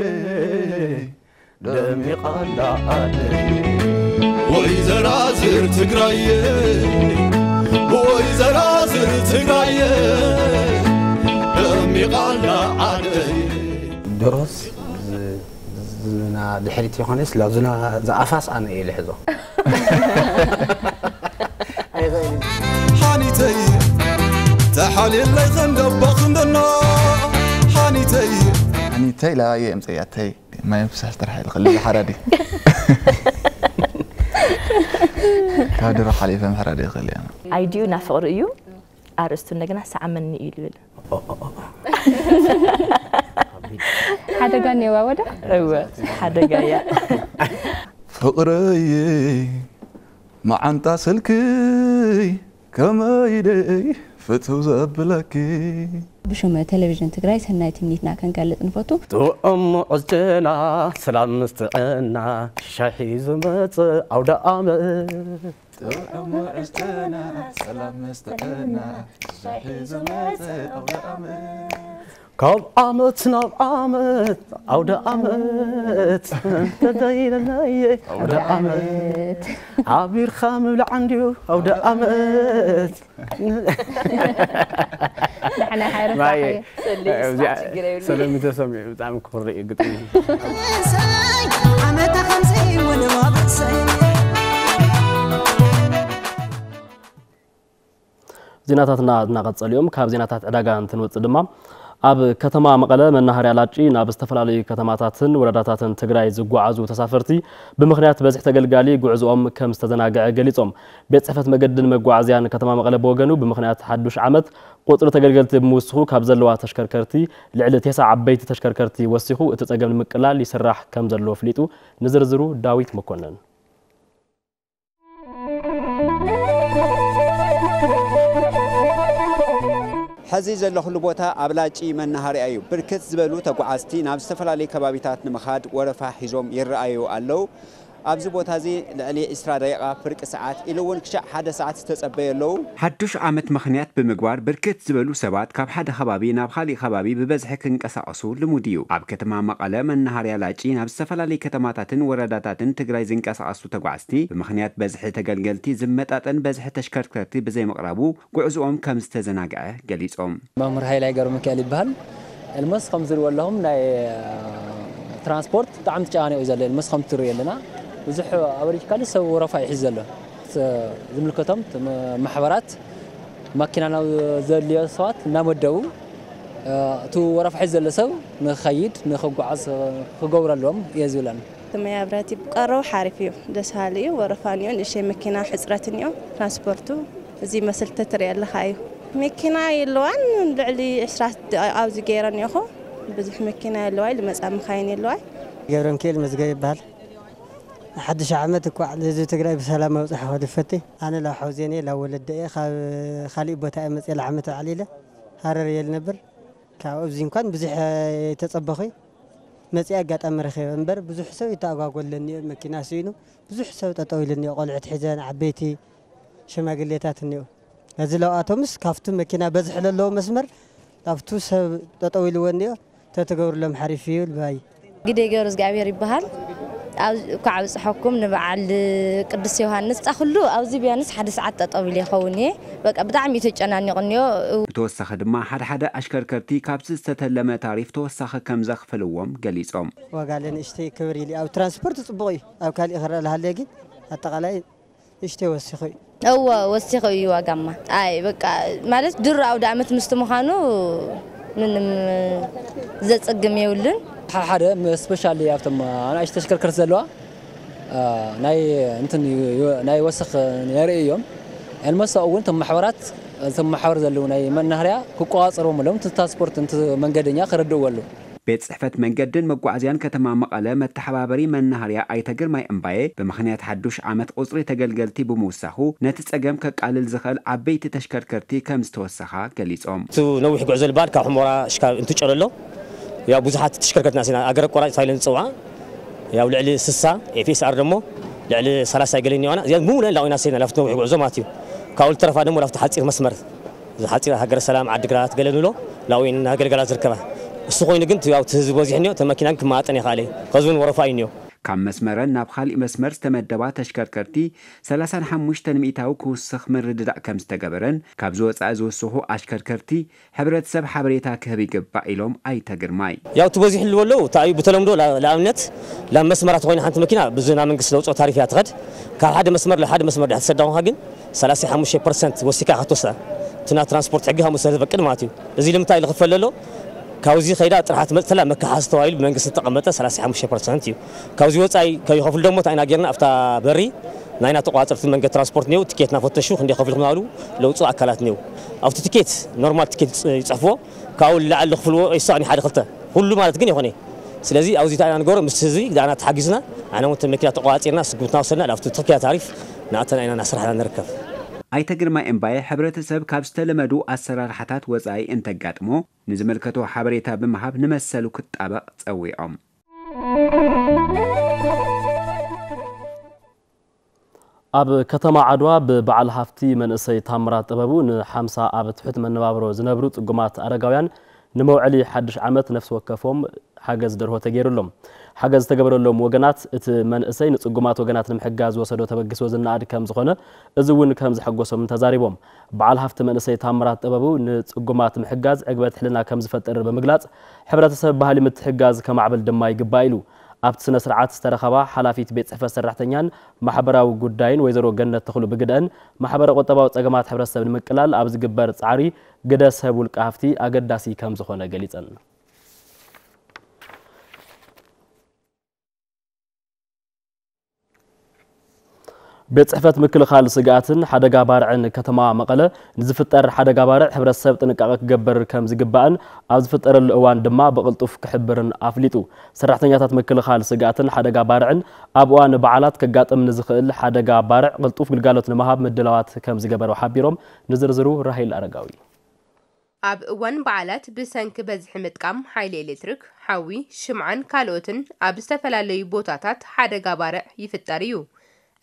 ደሚቓ ኣላ ዓደየ። ወይዘራዝር ትግራየ ወይዘራዝር ትግራየ ደሚቓ ኣላ ዓደየ። ድሮስ ዝና ድሕሪት ይኾነስ ላዙና ዝኣፋስ ኣነ እየ ልሕዞ። ሓኒተይ ተሓልየለይ ክንደባ ክንደና ሓኒተይ ሓኒተይ ላባየ እምፀያተይ ማይ ፍሳሽ ጥራሕ ኢልክል ሓራዲ ካብ ድሮ ሓሊፈ ምሕራድ ይኽእል እያ። ኣይዲኡ ና ፍቕሪ እዩ ኣርእስቱ እንደገና ሰዓመኒ እዩ ልብል። ሓደጋ እኒኦዋ ወደ እወ ሓደጋ እያ። ፍቕረይ መዓንጣ ስልክይ ከመይ ደይ ፍትው ዘብለኪ። ብሽም ቴሌቪዥን ትግራይ ሰናይ ትምኒትና ከንገልጽ ንፈቱ። ጥዑም ሙዑዝ ጨና ሰላም ምስ ጥዕና ሻሂ ዝመጽእ ኣውደ ኣመት። ጥዑም ሙዑዝ ጨና ሰላም ምስ ጥዕና ሻሂ ዝመጽእ ኣውደ ኣመት። ካብ ዓመት ናብ ዓመት ኣውደ ዓመት ተደይለናየ ኣውደ ዓመት ዓቢርካ ምብላዕ እንድዩ ኣውደ ዓመት። ንሕና ሓይረሳኸ ሰለሚ ተሰሚዑ ብጣዕሚ ክኽሪ እዩ ግጥሚ። ዓመታ ከምዚ ወለዋ ብእሰይ ዜናታትና እናቐጸሉ እዮም። ካብ ዜናታት ዕዳጋ እንትንወጽእ ድማ ኣብ ከተማ መቐለ መናሃርያ ላጪ ናብ ዝተፈላለዩ ከተማታትን ወረዳታትን ትግራይ ዝጓዓዙ ተሳፈርቲ ብምኽንያት በዝሒ ተገልጋሊ ጉዕዝኦም ከም ዝተዘናግዐ ገሊጾም። ቤት ጽሕፈት መገድን መጓዓዝያን ከተማ መቐለ ብወገኑ ብምኽንያት ሓዱሽ ዓመት ቁጽሪ ተገልገልቲ ብምውስኹ ካብ ዘለዋ ተሽከርከርቲ ልዕሊ ቴስዓ ዓበይቲ ተሽከርከርቲ ወሲኹ እቲ ጸገም ንምቅላል ይስራሕ ከም ዘሎ ኣፍሊጡ። ንዝርዝሩ ዳዊት መኮነን። ሕዚ ዘለኹሉ ቦታ ኣብ ላጪ መናሃርያ እዩ። ብርክት ዝበሉ ተጓዓዝቲ ናብ ዝተፈላለዩ ከባቢታት ንምኻድ ወረፋ ሒዞም ይረኣዩ ኣለዉ። ኣብዚ ቦታ እዚ ልዕሊ ዕስራ ደቂቓ፣ ፍርቂ ሰዓት ኢሉ እውን ክሻዕ ሓደ ሰዓት ዝተጸበዩ ኣለዉ። ሓዱሽ ዓመት ምኽንያት ብምግባር ብርክት ዝበሉ ሰባት ካብ ሓደ ከባቢ ናብ ካሊእ ከባቢ ብበዝሒ ክንቀሳቐሱ ልሙድ እዩ። ኣብ ከተማ መቐለ መናሃርያ ላጪ ናብ ዝተፈላለዩ ከተማታትን ወረዳታትን ትግራይ ዝንቀሳቐሱ ተጓዝቲ ብምኽንያት በዝሒ ተገልገልቲ ዝመጣጠን በዝሒ ተሽከርከርቲ ብዘይምቕራቡ ጉዕዝኦም ከም ዝተዘናግዐ ገሊጾም። መምህር ሃይላይ ገብረሚካኤል ይበሃል። ኤልሞስ ከም ዝሪእዎ ኣለኹም ናይ ትራንስፖርት ብጣዕሚ ተጨናኒቑ እዩ ዘሎ። ኤልሞስ ከም ትሪኡ ኣለና ብዙሕ ኣበሪጅካሊ ሰብ ወረፋ ይሕዝ ዘሎ። ዝምልከቶም ማሕበራት ማኪና ናብ ዘድልዮ ሰባት እናመደቡ እቲ ወረፋ ሒዝ ዘሎ ሰብ ንኸይድ ንኽጓዓዝ ክገብረሎም እየ ዝብለን። መብራህቲ ብቀረቡ ሓሪፍ እዩ፣ ደስ በሃሊ እዩ። ወረፋ እኒኦ፣ ንእሽተይ መኪና ሕፅረት እኒኦ፣ ትራንስፖርቱ እዚ መስል ተትሪኦ ኣለኻ እዩ። መኪና የለዋን፣ ልዕሊ ዕስራ ደቂቃ ኣብዚ ገይረ እኒኦኹ፣ ብዙሕ መኪና የለዋይ፣ ልመፃ መኻይን የለዋይ። ገብረምክኤል መዝገብ ይበሃል። ሓድሽ ዓመት እኳዕ ንህዝቢ ትግራይ ብሰላም ኣብፅሐ ክብል ይፈቲ። ኣነ ላብ ሓውዜን እየ፣ ላብ ወለደ እየ። ካብ ካሊእ ቦታ እየ መፅየ፣ ላዓመት በዓል ኢለ ሃረር እየ ልነብር። ካብ ኣብዚ እንኳን ብዙሕ ተጸበኹ መጽኢ ኣጋጣሚ ረኺበ እምበር ብዙሕ ሰብ ይተኣጓጎለኒ እዩ። መኪና ስኢኑ ብዙሕ ሰብ ጠጠው ኢሉ እኒኦ፣ ቆልዑት ሒዘን፣ ዓበይቲ፣ ሽማግሌታት እኒኦ። እዚ ለውኣቶምስ ካብቱ መኪና በዝሒ ለለዎ መስመር ካብቱ ሰብ ጠጠው ኢልዎ እኒኦ ተትገብሩሎም ሓሪፍ እዩ ልባይ። ግደይ ገብረ እግዚኣብሔር ይበሃል። እኳዕ ኣብፀሐኩም ንበዓል ቅዱስ ዮሃንስ። ፃ ኩሉ ኣብዚ ቢያንስ ሓደ ሰዓት ጠጠው ኢለ ይኸውን እየ። በቃ ብጣዕሚ እዩ ተጨናኒቑ እኒኦ። ብተወሳኺ ድማ ሓደ ሓደ ኣሽከርከርቲ ካብቲ ዝተተለመ ታሪፍ ተወሳኺ ከም ዘኽፍልዎም ገሊፆም። ዋጋ ለንእሽተይ ክብር ኢሊ ኣብ ትራንስፖርት ፅቡቕ እዩ። ኣብ ካሊእ ክረአ ልሃለ ግን ኣጠቓላይ ንእሽተይ ወሲኹ እዩ። እወ ወሲኹ እዩ ዋጋማ። ኣይ በቃ ማለት ድሮ ኣውደ ኣመት ምስቲ ምዃኑ ምንም ዘፅግም የብሉን። ሓደ ሓደ ስፔሻሊ ኣብቶም ኣናእሽቱ ተሽከርከርቲ ዘለዋ ናይ እንትን ናይ ወሰኽ የርኢ እዮም። ኤልመስ ኣብኡ እውን እቶም ማሕበራት እቶም ማሕበር ዘለዉ ናይ መናሃርያ ክቆፃፀርዎም ኣለዎም። እቲ ትራንስፖርት እቲ መንገደኛ ክረድእዎ ኣለዎም። ቤት ጽሕፈት መንገድን መጓዓዝያን ከተማ መቐለ መተሓባበሪ መናሃርያ ኣይተ ግርማይ እምባየ ብምኽንያት ሓዱሽ ዓመት ቁጽሪ ተገልገልቲ ብምውሳኹ ነቲ ጸገም ከቃልል ዝኽእል ዓበይቲ ተሽከርከርቲ ከም ዝተወሰኻ ገሊጾም። እቲ ነዊሕ ጉዕዞ ልባል ካብ ሑመራ ሽካብ እንትጨለሎ ያው ብዙሓት ተሽከርከርትና ሲና ኣገር ኣቋራጭ ታይለን ዝጽውዓ ያው ልዕሊ ስሳ ኤፍኤስኣር ደሞ ልዕሊ ሰላሳ ገለን ይዋና እዚኣ ምሙለን ላዊና ሲና ላፍቲ ነዊሕ ጉዕዞ ማለት እዩ። ካብኡ ልተረፋ ደሞ ላፍቲ ሓጺር መስመር እዚ ሓፂር ሃገረ ሰላም ዓዲግራት ገለ ንብሎ ላዊን እናገልገላ ዝርከባ እሱ ኮይኑ ግን ያው እቲ ህዝቢ በዚሑ እኒኦ ተመኪና ግን ክመጣጠን ይኽኣለ ከዚ እውን ወረፋ እዩ እኒኦ ካብ መስመረን ናብ ካሊእ መስመር ዝተመደባ ተሽከርከርቲ ሰላሳን ሓሙሽተን ሚእታዊ ክውስኽ ምርድዳእ ከም ዝተገበረን ካብዚ ወፃኢ ዝውስኹ ኣሽከርከርቲ ሕብረተሰብ ሓበሬታ ክህብ ይግባእ ኢሎም ኣይተ ግርማይ። ያው እቲ በዚሑ ኣለዉ እንታይ እዩ ብተለምዶ ንኣብነት ናብ መስመራት ተኮይና ሓንቲ መኪና ብዝና መንግስቲ ለውፅኦ ታሪፍ እያ ትኸድ ካብ ሓደ መስመር ለሓደ መስመር ድሕር ትሰዳ ግን ሰላሳ ሓሙሽተ ፐርሰንት ወሲካ ክትወስዳ እቲ ናይ ትራንስፖርት ሕጊ ከምኡ ስለዝፈቅድ ማለት እዩ። እዚ ልምንታይ ኢሉ ክፈል ዘሎ ካብዚ ከይዳ ጥራሕ ትመፅእ ተላ መከሓሲ ተባሂሉ ብመንግስቲ ዝተቐመጠ ሰላሳ ሓሙሽተ ፐርሰንት እዩ። ካብዚ ወፃኢ ከይኸፍሉ ደሞ እንታይ ኢና ጌርና ኣብታ በሪ ናይና ተቋፀርቲ መንገድ ትራንስፖርት እኒው ትኬት እናፈተሹ ክንደይ ከፊልኩም እናበሉ ለውፁ ኣካላት እኒው ኣብቲ ትኬት ኖርማል ትኬት ይፅሕፍዎ ካብኡ ንላዕሊ ዝኽፍልዎ ይሳቕኒ ሓደ ክልተ ኩሉ ማለት ግን ይኾነ ስለዚ ኣብዚ እንታይ ኢና ንገብሮ ምስቲ ህዝቢ ዳና ተሓጊዝና ኣነ እውን መኪና ተቋፂርና ስጉምትና ወሰድና ኣብቲ ትኽክያ ታሪፍ ንኣተና ኢና እናሰራሕና ንርከብ። ኣይተ ግርማይ እምባየ ሕብረተሰብ ካብ ዝተለመዱ ኣሰራርሓታት ወፃኢ እንተጋጥሞ ንዝምልከቶ ሓበሬታ ብምሃብ ንመሰሉ ክጣበቕ ፀዊዖም። ኣብ ከተማ ዓድዋ ብበዓል ሃፍቲ መንእሰይ ታምራት ጥበቡ ንሓምሳ ኣብ ትሑት መነባብሮ ዝነብሩ ጽጉማት ኣረጋውያን ንመውዐሊ ሓድሽ ዓመት ነፍሲ ወከፎም ሓገዝ ደርሆ ተገይሩሎም። ሓገዝ ዝተገበረሎም ወገናት እቲ መንእሰይ ንጽጉማት ወገናት ንምሕጋዝ ዝወሰዶ ተበግሶ ዝነኣድ ከም ዝኾነ እዚ እውን ከም ዘሐጎሶም ተዛሪቦም። በዓል ሃፍቲ መንእሰይ ታምራት ጥበቡ ንጽጉማት ምሕጋዝ ዕግበት ሕልና ከም ዝፈጥር ብምግላጽ ሕብረተሰብ ባህሊ ምትሕጋዝ ከማዕብል ድማ ይግባእ ኢሉ። ኣብቲ ስነ ስርዓት ዝተረኸባ ሓላፊት ቤት ፅሕፈት ሰራሕተኛን ማሕበራዊ ጉዳይን ወይዘሮ ገነት ተኽሉ ብግደአን ማሕበረ ቁጠባዊ ፀገማት ሕብረተሰብ ንምቅላል ኣብ ዝግበር ፃዕሪ ግደ ሰብ ውልቀ ሃፍቲ ኣገዳሲ ከምዝኾነ ገሊፀን። ቤት ፅሕፈት ምክልኻል ስግኣትን ሓደጋ ባርዕን ከተማ መቐለ ንዝፍጠር ሓደጋ ባርዕ ሕብረተሰብ ጥንቃቐ ክገብር ከምዝግባእን ኣብ ዝፍጠረሉ እዋን ድማ ብቕልጡፍ ክሕብርን ኣፍሊጡ። ሰራሕተኛታት ምክልኻል ስግኣትን ሓደጋ ባርዕን ኣብ እዋን በዓላት ከጋጥም ንዝኽእል ሓደጋ ባርዕ ቅልጡፍ ግልጋሎት ንምሃብ ምድላዋት ከምዝገበሩ ሓቢሮም። ንዝርዝሩ ራሄል ኣረጋዊ። ኣብ እዋን በዓላት ብሰንኪ በዝሒ ምጥቃም ሓይሊ ኤሌክትሪክ፣ ሓዊ፣ ሽምዓን ካልኦትን ኣብ ዝተፈላለዩ ቦታታት ሓደጋ ባርዕ ይፍጠር እዩ።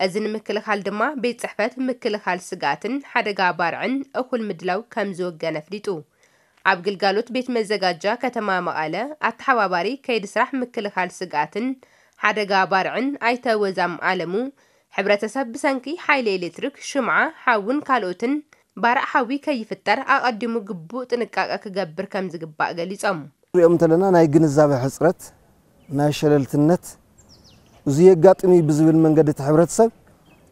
እዚ ንምክልኻል ድማ ቤት ጽሕፈት ምክልኻል ስግኣትን ሓደጋ ባርዕን እኹል ምድላው ከም ዝወገነ ኣፍሊጡ። ኣብ ግልጋሎት ቤት መዘጋጃ ከተማ መቐለ ኣተሓባባሪ ከይዲ ስራሕ ምክልኻል ስግኣትን ሓደጋ ባርዕን ኣይተ ወዛም ኣለሙ፣ ሕብረተሰብ ብሰንኪ ሓይሊ ኤሌክትሪክ፣ ሽምዓ፣ ሓውን ካልኦትን ባርዕ ሓዊ ከይፍጠር ኣቐዲሙ ግቡእ ጥንቃቐ ክገብር ከም ዝግባእ ገሊጾም። ንሪኦም እንተለና ናይ ግንዛበ ሕጽረት፣ ናይ ሸለልትነት፣ እዚ የጋጥም እዩ ብዝብል መንገዲ እቲ ሕብረተሰብ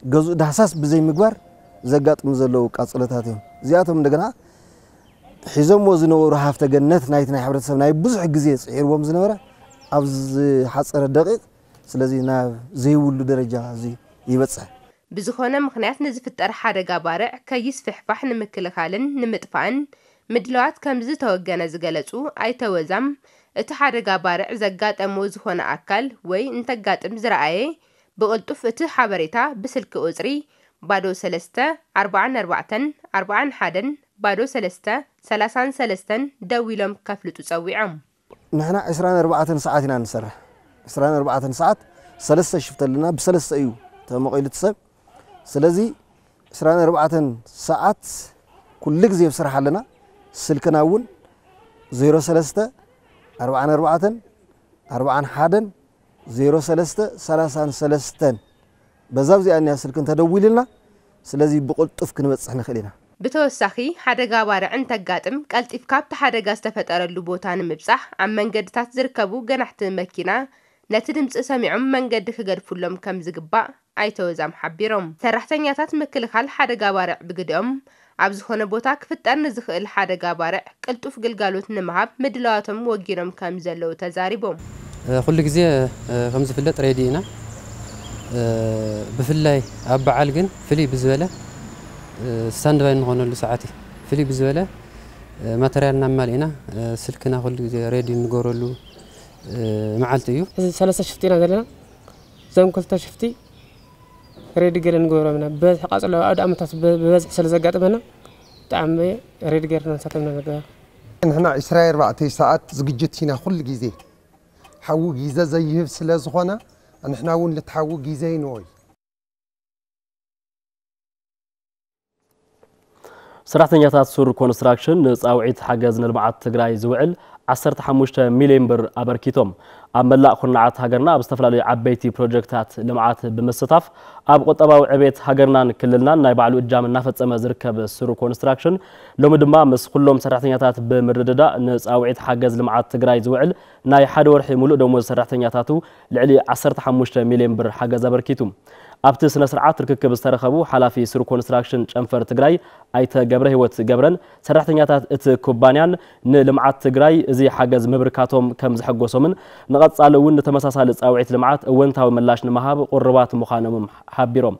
ገዝኡ ዳህሳስ ብዘይምግባር ዘጋጥሙ ዘለዉ ቃጽሎታት እዮም። እዚኣቶም እንደገና ሒዞምዎ ዝነበሩ ሃፍተ ገነት ናይቲ ናይ ሕብረተሰብ ናይ ብዙሕ ግዜ ጽዒርዎም ዝነበረ ኣብ ዝሓጸረ ደቂቕ፣ ስለዚ ናብ ዘይብሉ ደረጃ እዚ ይበጽሕ። ብዝኾነ ምኽንያት ንዝፍጠር ሓደጋ ባርዕ ከይስፍሕፋሕ ንምክልኻልን ንምጥፋእን ምድላዋት ከም ዝተወገነ ዝገለጹ ኣይተ ወዛም፣ እቲ ሓደጋ ባርዕ ዘጋጠሞ ዝኾነ ኣካል ወይ እንተጋጥም ዝረኣየ ብቕልጡፍ እቲ ሓበሬታ ብስልኪ ቁጽሪ ባዶ ሰለስተ ኣርባዓን ኣርባዕተን ኣርባዓን ሓደን ባዶ ሰለስተ ሰላሳን ሰለስተን ደዊሎም ከፍልጡ ጸዊዖም። ንሕና ዕስራን ኣርባዕተን ሰዓት ኢና ንሰርሕ። ዕስራን ኣርባዕተን ሰዓት ሰለስተ ሽፍት ኣለና፣ ብሰለስተ እዩ ተመቒሉ እቲ ሰብ። ስለዚ ዕስራን ኣርባዕተን ሰዓት ኩሉ ግዜ ኣብ ስራሕ ኣለና። ስልክና እውን ዜሮ ሰለስተ ኣርባዓን ኣርባዕተን ኣርባዓን ሓደን ዜሮ ሰለስተ ሰላሳን ሰለስተን በዛ ኣብዚኣ እኒኣ ስልኪ እንተደዊሉልና፣ ስለዚ ብቕልጡፍ ክንበጽሕ ንኽእል ኢና። ብተወሳኺ፣ ሓደጋ ባርዕ እንተጋጥም፣ ቀልጢፍካ ኣብቲ ሓደጋ ዝተፈጠረሉ ቦታ ንምብጻሕ፣ ኣብ መንገድታት ዝርከቡ ገናሕቲ መኪና ነቲ ድምጺ ሰሚዖም መንገዲ ክገድፉሎም ከም ዝግባእ ኣይተ ወዛም ሓቢሮም። ሰራሕተኛታት ምክልኻል ሓደጋ ባርዕ ብግዲኦም፣ ኣብ ዝኾነ ቦታ ክፍጠር ንዝኽእል ሓደጋ ባርዕ ቅልጡፍ ግልጋሎት ንምሃብ ምድላዋቶም ወጊኖም ከም ዘለዉ ተዛሪቦም። እ፣ ኩሉ ግዜ፣ እ፣ ከም ዝፍለጥ ሬዲ ኢና። እ፣ ብፍላይ ኣብ በዓል ግን ፍልይ ብዝበለ፣ እ፣ ስታንድባይ እንኾነሉ ሰዓት እዩ። ፍልይ ብዝበለ፣ እ፣ ማተርያል እናማልእና፣ እ፣ ስልክና ኩሉ ግዜ ሬዲ እንገብረሉ፣ እ፣ መዓልቲ እዩ። እዚ ሰለስተ ሽፍቲ ኢና ዘለና። እዞም ክልተ ሽፍቲ ሬዲ ገለ ንገብሮም ኢና። ብበዝሒ ቃጽሎ ኣውደ ኣመታት ብ-፣ ብበዝሒ ስለ ዘጋጥመና፣ ብጣዕሚ ሬዲ ገይርና ንሳቶም ኢና ንገብር። ንሕና ዕስራ ኣርባዕተ ሰዓት ዝግጅት ኢና ኩሉ ግዜ። ሓዊ ግዜ ዘይህብ ስለ ዝኾነ፣ ንሕና እውን ልትሓዊ ግዜ ይንኦይ። ሰራሕተኛታት ሱር ኮንስትራክሽን ንጻውዒት ሓገዝ ንልምዓት ትግራይ ዝውዕል ዓሰርተ ሓሙሽተ ሚልዮን ብር ኣበርኪቶም። ኣብ መላእ ኩርናዓት ሃገርና ኣብ ዝተፈላለዩ ዓበይቲ ፕሮጀክታት ልምዓት ብምስታፍ ኣብ ቁጠባዊ ዕቤት ሃገርናን ክልልናን ናይ ባዕሉ እጃም እናፈጸመ ዝርከብ ሱር ኮንስትራክሽን ሎሚ ድማ ምስ ኩሎም ሰራሕተኛታት ብምርድዳእ ንጻውዒት ሓገዝ ልምዓት ትግራይ ዝውዕል ናይ ሓደ ወርሒ ሙሉእ ደሞዝ ሰራሕተኛታቱ ልዕሊ ዓሰርተ ሓሙሽተ ሚልዮን ብር ሓገዝ ኣበርኪቱ። ኣብቲ ስነ ስርዓት ርክክብ ዝተረኸቡ ሓላፊ ሱር ኮንስትራክሽን ጨንፈር ትግራይ ኣይተ ገብረ ህይወት ገብረን ሰራሕተኛታት እቲ ኩባንያን ንልምዓት ትግራይ እዚ ሓገዝ ምብርካቶም ከም ዘሐጎሶምን ንቐጻሊ እውን ንተመሳሳሊ ጻውዒት ልምዓት እወንታዊ ምላሽ ንምሃብ ቁርባት ምዃኖም ሓቢሮም።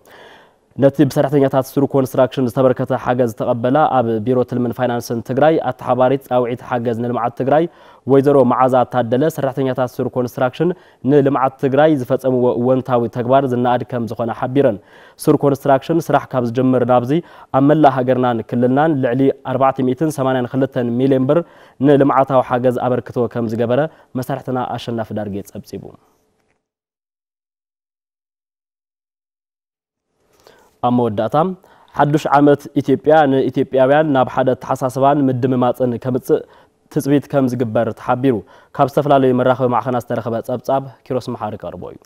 ነቲ ብሰራሕተኛታት ሱር ኮንስትራክሽን ዝተበርከተ ሓገዝ ዝተቐበላ ኣብ ቢሮ ትልምን ፋይናንስን ትግራይ ኣተሓባሪት ጻውዒት ሓገዝ ንልምዓት ትግራይ ወይዘሮ መዓዛ ታደለ ሰራሕተኛታት ሱር ኮንስትራክሽን ንልምዓት ትግራይ ዝፈጸምዎ እወንታዊ ተግባር ዝነኣድ ከም ዝኾነ ሓቢረን። ሱር ኮንስትራክሽን ስራሕ ካብ ዝጅምር ናብዚ ኣብ መላእ ሃገርናን ክልልናን ልዕሊ ኣርባዕተ ሚእትን ሰማንያን ክልተን ሚልዮን ብር ንልምዓታዊ ሓገዝ ኣበርክቶ ከም ዝገበረ መሳርሕትና ኣሸናፊ ዳርጌ ጸብጺቡ። ኣብ መወዳእታ፣ ሓዱሽ ዓመት ኢትዮጵያ ንኢትዮጵያውያን ናብ ሓደ ኣተሓሳስባን ምድምማፅን ከምፅእ ትፅቢት ከም ዝግበር ተሓቢሩ። ካብ ዝተፈላለዩ መራኸቢ ማዕኸናት ዝተረኸበ ፀብፃብ ኪሮስ መሓሪ ከቕርቦ እዩ።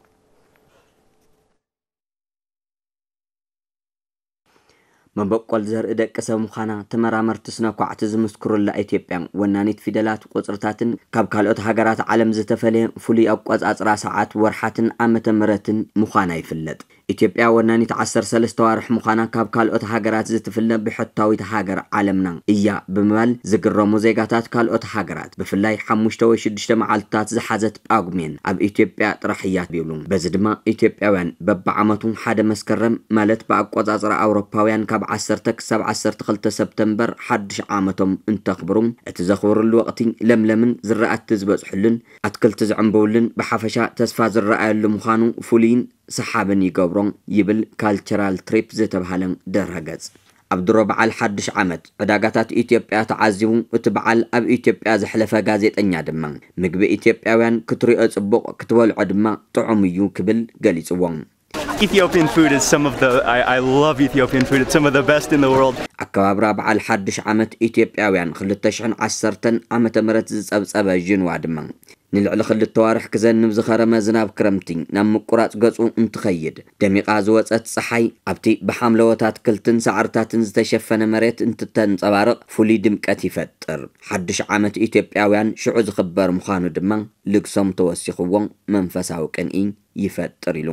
መበቆል ዘርኢ ደቂ ሰብ ምዃና ተመራመርቲ ስነ ኳዕቲ ዝምስክሩላ ኢትዮጵያ፣ ወናኒት ፊደላት፣ ቁጽርታትን ካብ ካልኦት ሃገራት ዓለም ዝተፈለየ ፍሉይ ኣቆጻጽራ ሰዓት፣ ወርሓትን ዓመተ ምህረትን ምዃና ይፍለጥ። ኢትዮጵያ ወናኒት ዓሰርተ ሰለስተ ኣዋርሕ ምዃና ካብ ካልኦት ሃገራት ዝትፍለ ብሕታዊት ሃገር ዓለምና እያ ብምባል ዝግረሙ ዜጋታት ካልኦት ሃገራት፣ ብፍላይ ሓሙሽተ ወይ ሽዱሽተ መዓልትታት ዝሓዘት ጳጉሜን ኣብ ኢትዮጵያ ጥራሕ እያ ይብሉ። በዚ ድማ ኢትዮጵያውያን በብዓመቱ ሓደ መስከረም፣ ማለት ብኣቆጻጽራ ኣውሮፓውያን ካብ ዓሰርተ ክሳብ ዓሰርተ ክልተ ሰፕተምበር፣ ሓድሽ ዓመቶም እንተኽብሩ፣ እቲ ዘኽብርሉ ወቕቲ ለምለምን ዝራእቲ ዝበጽሕሉን ኣትክልቲ ዝዕምብብሉን ብሓፈሻ ተስፋ ዝረኣየሉ ምዃኑ ፍሉይን ሰሓብን ይገብሮ ይብል ካልቸራል ትሪፕ ዝተብሃለ ድረገጽ። ኣብ ድሮ በዓል ሓድሽ ዓመት ዕዳጋታት ኢትዮጵያ ተዓዚቡ፣ እቲ በዓል ኣብ ኢትዮጵያ ዘሕለፈ ጋዜጠኛ ድማ፣ "ምግቢ ኢትዮጵያውያን ክትሪኦ ጽቡቕ፣ ክትበልዖ ድማ ጥዑም እዩ" ክብል ገሊጽዎ። Ethiopian food is some of the I, I love Ethiopian food. It's some of the best in the world. ኣከባብራ በዓል ሓድሽ ዓመት ኢትዮጵያውያን ክልተ ሽሕን ዓሰርተን ዓመተ ምህረት ዝጸብጸበ ዥንዋ ድማ፣ ንልዕሊ ክልተ ዋርሕ ክዘንብ ዝኸረመ ዝናብ ክረምቲ ናብ ምቁራጽ ገጹ እንትኸይድ፣ ደሚቓ ዝወጸት ጸሓይ ኣብቲ ብሓምለዎት ኣትክልትን ሳዕርታትን ዝተሸፈነ መሬት እንትተንጸባርቕ ፍሉይ ድምቀት ይፈጥር። ሓድሽ ዓመት ኢትዮጵያውያን ሽዑ ዝኽበር ምዃኑ ድማ ልግሶም ተወሲኽዎ መንፈሳዊ ቅንኢ ይፈጥር ኢሉ።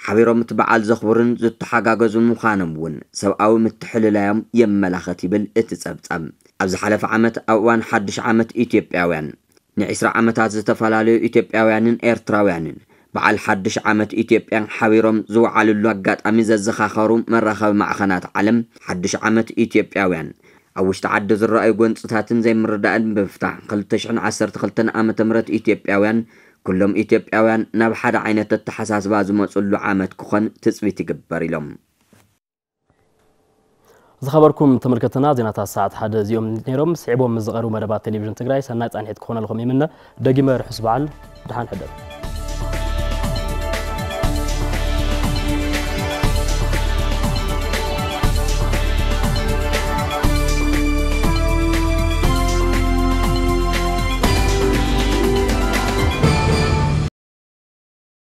ሓቢሮም እቲ በዓል ዘኽብሩን ዝተሓጋገዙ ምዃኖም እውን ሰብኣዊ ምትሕልላዮም የመላኽት ይብል እቲ ጸብጻብ። ኣብ ዝሓለፈ ዓመት ኣብ እዋን ሓድሽ ዓመት ኢትዮጵያውያን ንዒስራ ዓመታት ዝተፈላለዩ ኢትዮጵያውያንን ኤርትራውያንን በዓል ሓድሽ ዓመት ኢትዮጵያ ሓቢሮም ዝወዓልሉ ኣጋጣሚ ዘዘኻኸሩ መራኸቢ ማዕኸናት ዓለም፣ ሓድሽ ዓመት ኢትዮጵያውያን ኣብ ውሽጢ ዓዲ ዝረኣዩ ጎንፅታትን ዘይምርዳእን ብምፍታሕ ክልተ ሽሕን ዓሰርተ ክልተን ዓመተ ምህረት ኢትዮጵያውያን ኩሎም ኢትዮጵያውያን ናብ ሓደ ዓይነት ኣተሓሳስባ ዝመፅሉ ዓመት ክኾን ትፅቢት ይግበር ኢሎም። ዝኸበርኩም ተመልከትና፣ ዜናታት ሰዓት ሓደ እዚኦም ነይሮም። ስዒቦም ምስ ዝቐርቡ መደባት ቴሌቪዥን ትግራይ ሰናይ ጻንሒት ክኾነልኩም ይምነ። ደጊመ ርሑስ በዓል፣ ደሓን ሕደሩ።